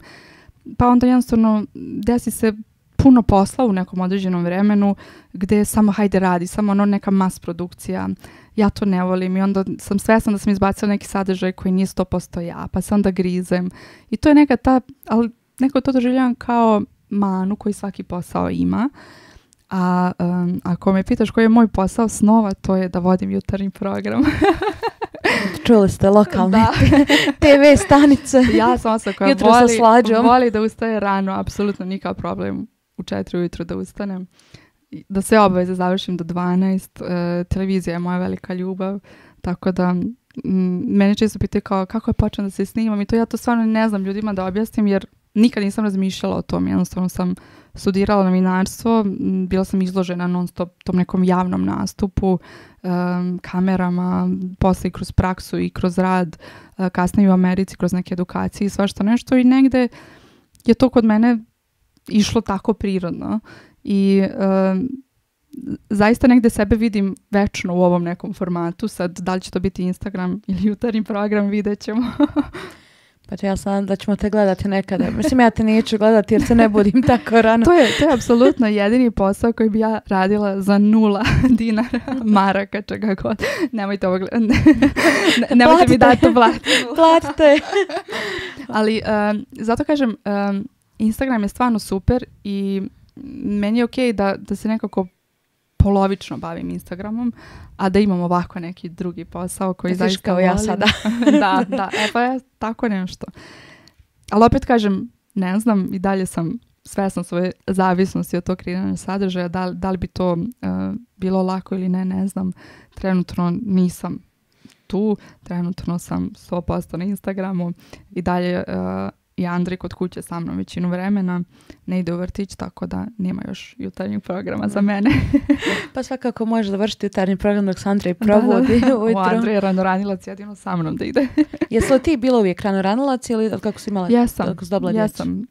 [SPEAKER 2] pa onda jednostavno desi se puno posla u nekom određenom vremenu gdje samo hajde radi, samo neka mas produkcija. Ja to ne volim i onda sam svesna da sam izbacila neki sadržaj koji nije 100% ja, pa se onda grizem. I to je neka ali neko to doživljavam kao manu koji svaki posao ima. A ako me pitaš koji je moj posao snova, to je da vodim jutarnji program.
[SPEAKER 1] Čuli ste lokalne TV stanice.
[SPEAKER 2] Ja sam osoba koja voli da ustaje rano, apsolutno nikakav problem u 4 ujutro da ustanem. Da sve obaveze završim do 12. Televizija je moja velika ljubav, tako da mene često pitaju kako je počeo da se snimam i to ja to stvarno ne znam ljudima da objasnim jer nikad nisam razmišljala o tom. Jednostavno sam studirala novinarstvo, bila sam izložena non stop tom nekom javnom nastupu, kamerama, posle i kroz praksu i kroz rad, kasnije u Americi kroz neke edukacije i svašta nešto i negde je to kod mene išlo tako prirodno i zaista negde sebe vidim večno u ovom nekom formatu. Sad, da li će to biti Instagram ili jutarnji program, vidjet ćemo.
[SPEAKER 1] Pa ja sam da ćemo te gledati nekada. Mislim, ja te neću gledati jer se ne budim tako rano.
[SPEAKER 2] To je apsolutno jedini posao koji bi ja radila za 0 dinara, maraka, čega god. Nemojte ovo gledati. Nemojte mi dati to
[SPEAKER 1] platite.
[SPEAKER 2] Ali zato kažem, Instagram je stvarno super i meni je okej da se nekako polovično bavim Instagramom, a da imam ovako neki drugi posao koji zaista
[SPEAKER 1] kao
[SPEAKER 2] volim.
[SPEAKER 1] ja sada.
[SPEAKER 2] Da, pa ja tako nešto. Ali opet kažem, ne znam, i dalje sam svesna svoje zavisnosti od tog kreiranja sadržaja, da li bi to bilo lako ili ne znam. Trenutno nisam tu, trenutno sam 100% na Instagramu i dalje i Andrej kod kuće sa mnom većinu vremena, ne ide u vrtić, tako da nema još jutarnjeg programa za mene.
[SPEAKER 1] Pa svakako možeš završiti jutarnji program dok se Andrej probudi ujutro.
[SPEAKER 2] Andrej je ranoranilac, jedino sa mnom da ide.
[SPEAKER 1] Jesi li ti bila uvijek ranoranilac ili kako si imala?
[SPEAKER 2] Jesam.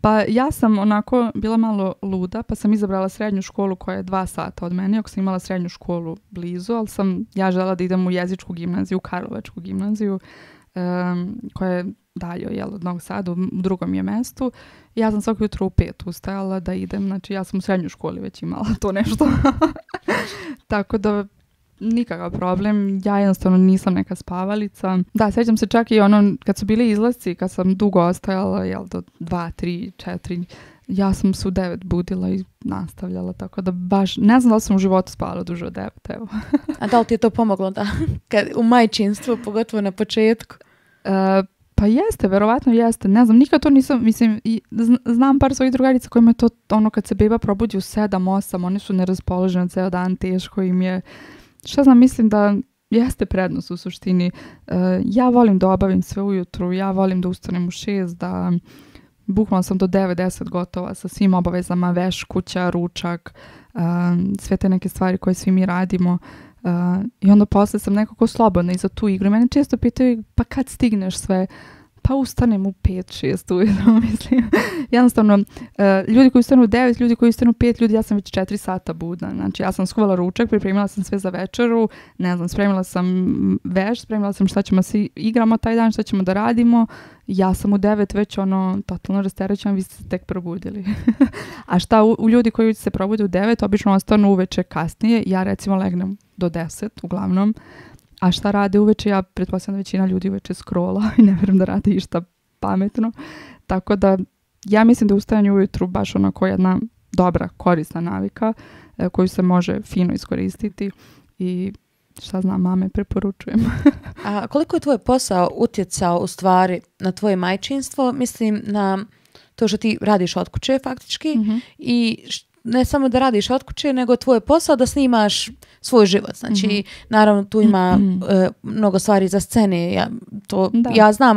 [SPEAKER 2] Pa ja sam onako bila malo luda, pa sam izabrala srednju školu koja je 2 sata od mene, ako sam imala srednju školu blizu, ali sam ja želela da idem u jezičku gimnaziju, Karlovačku gimnaziju, koja je dalje od Novog Sada, u drugom je mestu. Ja sam svako jutro u 5 ustajala da idem, znači ja sam u srednjoj školi već imala to nešto. Tako da nikakav problem, ja jednostavno nisam neka spavalica. Da, sjećam se čak i kad su bili izlasci, kad sam dugo ostajala, do 2, 3, 4, ja sam se u 9 budila i nastavljala, tako da baš, ne znam da li sam u životu spavala duže od 9, evo.
[SPEAKER 1] A da li ti je to pomoglo da, u majčinstvu, pogotovo na početku?
[SPEAKER 2] Pa jeste, verovatno jeste. Ne znam, nikad to nisam, mislim, znam par svojih drugarica kojima je to kad se beba probudi u 7, 8, oni su neraspoloženi ceo dan, teško im je. Šta znam, mislim da jeste prednost u suštini. Ja volim da obavim sve ujutru, ja volim da ustanem u 6, da bukvalno sam do 9-10 gotova sa svim obavezama, veš, kuća, ručak, sve te neke stvari koje svi mi radimo. I onda posle sam nekako slobodna i za tu igru. Mene često pitaju, pa kad stigneš sve? Pa ustanem u 5-6 ujutro, mislim. Jednostavno, ljudi koji ustanu u 9, ljudi koji ustanu u 5, ljudi, ja sam već 4 sata budna. Znači, ja sam skuvala ručak, pripremila sam sve za večeru, ne znam, spremila sam veš, spremila sam šta ćemo se igramo taj dan, šta ćemo da radimo. Ja sam u 9 već totalno rasterećena, vi ste se tek probudili. A šta u ljudi koji se probude u 9, obično ostanu uveče kasnije. Ja recimo legnem do 10, uglavnom. A šta rade uveče? Ja pretpostavljam da većina ljudi uveče scrolla i ne vjerujem da rade išta pametno. Tako da ja mislim da ustajanje ujutru baš onako jedna dobra, korisna navika koju se može fino iskoristiti i šta znam, mame preporučujem.
[SPEAKER 1] A koliko je tvoj posao utjecao u stvari na tvoje majčinstvo? Mislim na to što ti radiš od kuće faktički i ne samo da radiš od kuće, nego tvoj posao da snimaš svoj život. Znači, naravno, tu ima mnogo stvari za scene. Ja znam,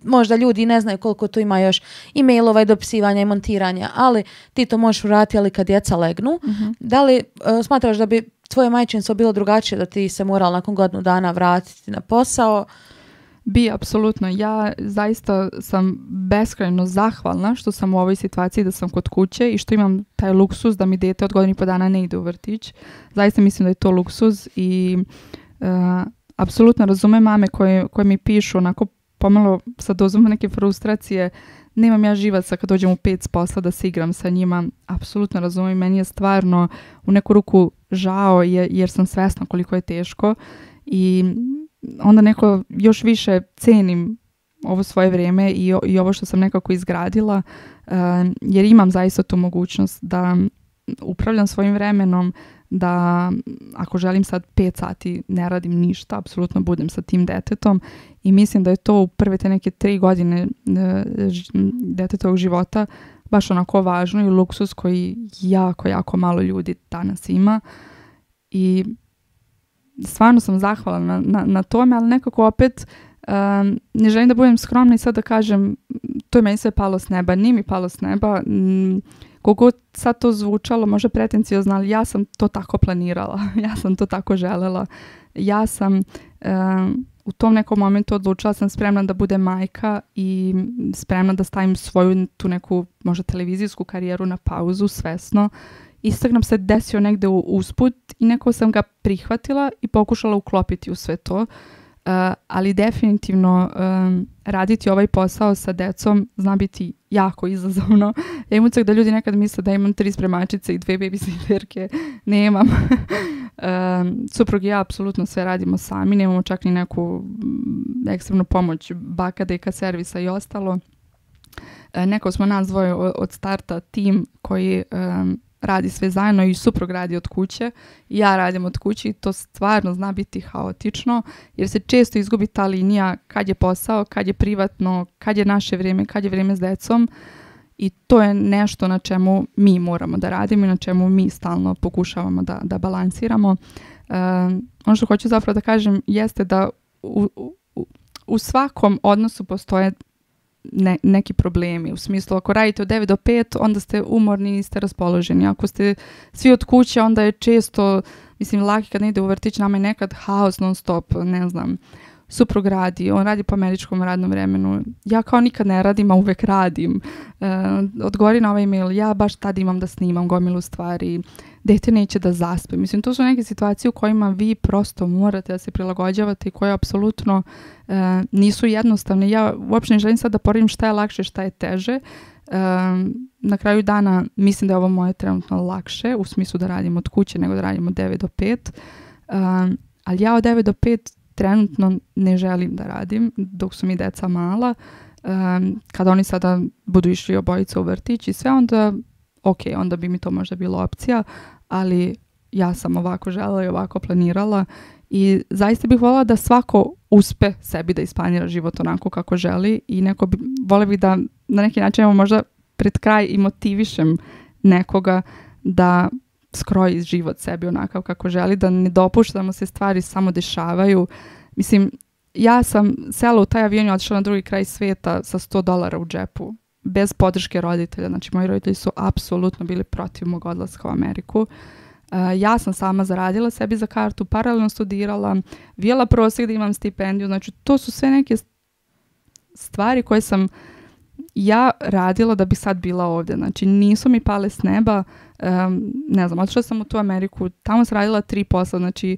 [SPEAKER 1] možda ljudi ne znaju koliko tu ima još i mailova i dopisivanja i montiranja, ali ti to možeš uraditi ali kad djeca legnu. Da li smatraš da bi tvoje majčinstvo bilo drugačije, da ti se morala nakon godinu dana vratiti na posao?
[SPEAKER 2] Bi, apsolutno. Ja zaista sam beskrajno zahvalna što sam u ovoj situaciji da sam kod kuće i što imam taj luksuz da mi dete od 1,5 godina ne ide u vrtić. Zaista mislim da je to luksuz i apsolutno razumem mame koje mi pišu onako pomalo sa dozom neke frustracije. Nemam ja živaca kad dođem u 5 s posla da se igram sa njima. Apsolutno razumem. Meni je stvarno u neku ruku žao jer sam svesna koliko je teško i onda neko još više cenim ovo svoje vrijeme i ovo što sam nekako izgradila, jer imam zaista tu mogućnost da upravljam svojim vremenom, da ako želim sad 5 sati ne radim ništa, apsolutno budem sa tim detetom i mislim da je to u prve te neke 3 godine detetovog života baš onako važno i luksus koji jako, jako malo ljudi danas ima i stvarno sam zahvalna na tome, ali nekako opet ne želim da budem skromna i sad da kažem to je meni sve palo s neba. Nije mi palo s neba. Koliko sad to zvučalo, možda pretenciozno, ali ja sam to tako planirala. Ja sam to tako želela. Ja sam u tom nekom momentu odlučila sam spremna da bude majka i spremna da stavim svoju tu neku možda televizijsku karijeru na pauzu svesno. Instagram se desio negde usput i neko sam ga prihvatila i pokušala uklopiti u sve to. Ali definitivno raditi ovaj posao sa decom zna biti jako izazovno. Ja imam ucak da ljudi nekad misle da imam 3 spremačice i 2 babysitterke. Nemam. Suprug i ja apsolutno sve radimo sami. Nemamo čak ni neku ekstremnu pomoć baka, deka, servisa i ostalo. Neko smo nas dvoje od starta tim koji radi sve zajedno i suprug radi od kuće. Ja radim od kuće i to stvarno zna biti haotično jer se često izgubi ta linija kad je posao, kad je privatno, kad je naše vrijeme, kad je vrijeme s decom. I to je nešto na čemu mi moramo da radimo i na čemu mi stalno pokušavamo da balansiramo. Ono što hoću zapravo da kažem jeste da u svakom odnosu postoje neki problemi. U smislu, ako radite od 9 do 5, onda ste umorni i niste raspoloženi. Ako ste svi od kuće, onda je često, mislim, laki kad ne ide u vrtić, nama je nekad haos non stop, ne znam. Suprug radi, on radi po američkom radnom vremenu. Ja kao nikad ne radim, a uvek radim. Odgovori na ovaj email, ja baš tad imam da snimam gomilu stvari. Dete neće da zaspe. Mislim, to su neke situacije u kojima vi prosto morate da se prilagođavate i koje apsolutno nisu jednostavne. Ja uopšte ne želim sad da poredim šta je lakše, šta je teže. Na kraju dana mislim da je ovo moje trenutno lakše, u smislu da radim od kuće nego da radim od 9 do 5. Ali ja od 9 do 5 trenutno ne želim da radim dok su mi deca mala. Kada oni sada budu išli obojica u vrtić i sve, onda onda bi mi to možda bilo opcija, ali ja sam ovako želela i ovako planirala i zaista bih voljela da svako uspe sebi da isplanira život onako kako želi i voljela bih da na neki način možda pred kraj i motivišem nekoga da skroji život sebi onakav kako želi, da ne dopuštamo se stvari samo dešavaju. Mislim, ja sam sela u taj avion i otišla na drugi kraj svijeta sa $100 u džepu, bez podrške roditelja. Znači, moji roditelji su apsolutno bili protiv mog odlaska u Ameriku. Ja sam sama zaradila sebi za kartu, paralelno studirala, vijela prosjek da imam stipendiju. Znači, to su sve neke stvari koje sam ja radila da bi sad bila ovdje. Znači, nisu mi pale s neba. Ne znam, otišla sam u tu Ameriku, tamo sam radila 3 posla. Znači,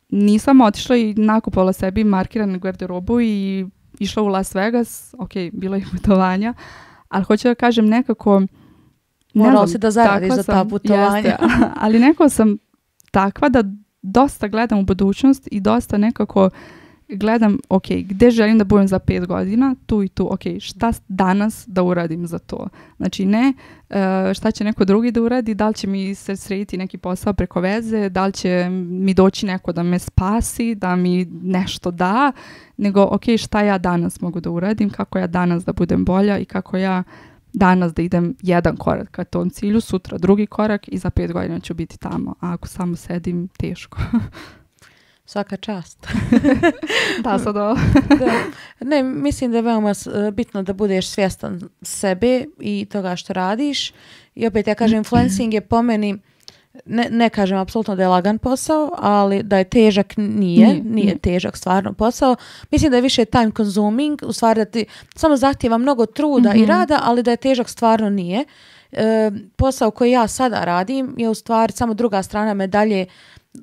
[SPEAKER 2] nisam otišla i nakupovala sebi markiranu garderobu i išla u Las Vegas. Ok, bilo je putovanja. Ali hoću da kažem nekako...
[SPEAKER 1] Morala si da zaradiš za ta putovanja.
[SPEAKER 2] Jeste, ali nekako sam takva da dosta gledam u budućnost i dosta nekako gledam, ok, gde želim da budem za 5 godina, tu i tu, ok, šta danas da uradim za to. Znači ne šta će neko drugi da uradi, da li će mi se srediti neki posao preko veze, da li će mi doći neko da me spasi, da mi nešto da, nego ok, šta ja danas mogu da uradim, kako ja danas da budem bolja i kako ja danas da idem jedan korak ka tom cilju, sutra drugi korak i za 5 godina ću biti tamo. A ako samo sedim, teško.
[SPEAKER 1] Svaka čast.
[SPEAKER 2] Da, sad ovo.
[SPEAKER 1] Ne, mislim da je veoma bitno da budeš svjestan sebe i toga što radiš. I opet ja kažem, influencing je po meni, ne kažem apsolutno da je lagan posao, ali da je težak nije težak stvarno posao. Mislim da je više time consuming, u stvari da ti samo zahtijeva mnogo truda i rada, ali da je težak stvarno nije. Posao koji ja sada radim je u stvari samo druga strana medalje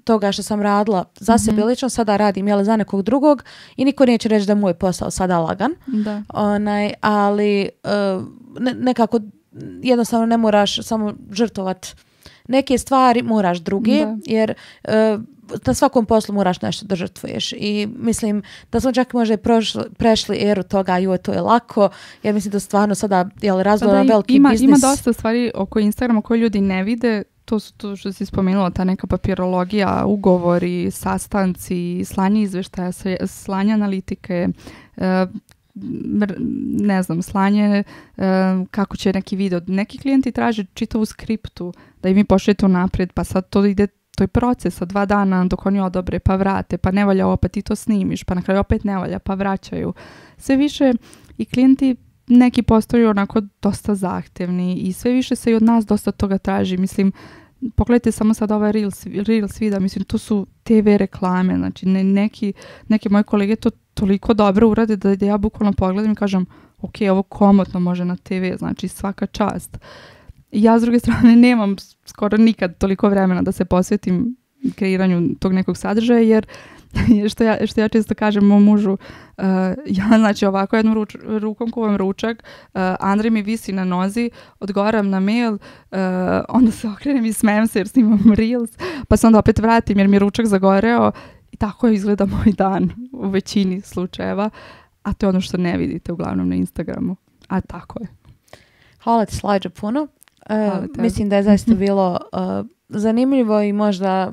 [SPEAKER 1] toga što sam radila za sebe lično, sada radim za nekog drugog i niko neće reći da je moj posao sada lagan.
[SPEAKER 2] Da.
[SPEAKER 1] Ali nekako jednostavno ne moraš samo žrtvovat neke stvari, moraš druge, jer na svakom poslu moraš nešto da žrtvuješ. I mislim da smo čak možda prešli eru toga, to je lako, jer mislim da stvarno sada razvoja veliki biznis.
[SPEAKER 2] Ima dosta stvari oko Instagrama koje ljudi ne vide. To su to što si spomenula, ta neka papirologija, ugovori, sastanci, slanje izveštaja, slanje analitike, ne znam, slanje kako će neki video. Neki klijenti traže čitavu skriptu da im mi pošaljete unaprijed, pa sad to ide, to je proces od 2 dana dok oni odobre, pa vrate, pa ne valja ovo, pa ti to snimiš, pa na kraju opet ne valja, pa vraćaju. Sve više i klijenti neki postaju onako dosta zahtevni i sve više se i od nas dosta toga traži. Mislim, pogledajte samo sad ovaj Reels vida, mislim, to su TV reklame, znači neki moji kolege to toliko dobro urade da ja bukvalno pogledam i kažem, ok, ovo komotno može na TV, znači svaka čast. Ja s druge strane nemam skoro nikad toliko vremena da se posvetim kreiranju tog nekog sadržaja, jer što ja često kažem mom mužu, ja znači ovako jednom rukom kuvam ručak, Andrej mi visi na nozi, odgovaram na mail, onda se okrenem i smijem se jer snimam Reels, pa se onda opet vratim jer mi je ručak zagoreo i tako izgleda moj dan u većini slučajeva, a to je ono što ne vidite uglavnom na Instagramu, a tako je.
[SPEAKER 1] Hvala ti, Slađo, puno.
[SPEAKER 2] Hvala tebi.
[SPEAKER 1] Mislim da je zaista bilo zanimljivo i možda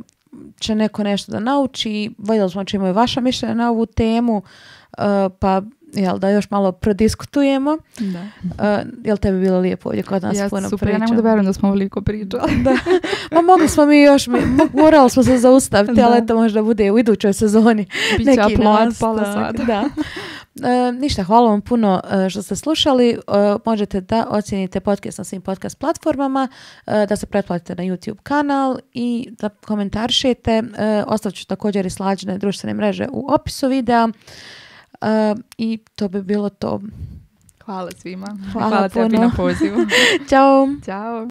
[SPEAKER 1] će neko nešto da nauči. Voljeli smo čemu je vaša mišljenja na ovu temu, pa da još malo prodiskutujemo.
[SPEAKER 2] Da.
[SPEAKER 1] Jel tebi bilo lijepo ovdje kod nas puno
[SPEAKER 2] super,
[SPEAKER 1] priča?
[SPEAKER 2] ja ne mogu da verujem da smo ovoliko pričali.
[SPEAKER 1] Da. Ma mogli smo mi još, morali smo se zaustaviti, ali eto možda bude u idućoj sezoni
[SPEAKER 2] Biće
[SPEAKER 1] neki
[SPEAKER 2] aplaud
[SPEAKER 1] nastavak.
[SPEAKER 2] pola sata.
[SPEAKER 1] Da. Ništa, hvala vam puno što ste slušali. Možete da ocijenite podcast na svim podcast platformama, da se pretplatite na YouTube kanal i da komentarišete. Ostavit ću također i Slađine društvene mreže u opisu videa. I to bi bilo to.
[SPEAKER 2] Hvala svima.
[SPEAKER 1] Hvala
[SPEAKER 2] Hvala tebi
[SPEAKER 1] puno.
[SPEAKER 2] na pozivu.
[SPEAKER 1] Ćao.
[SPEAKER 2] Ćao.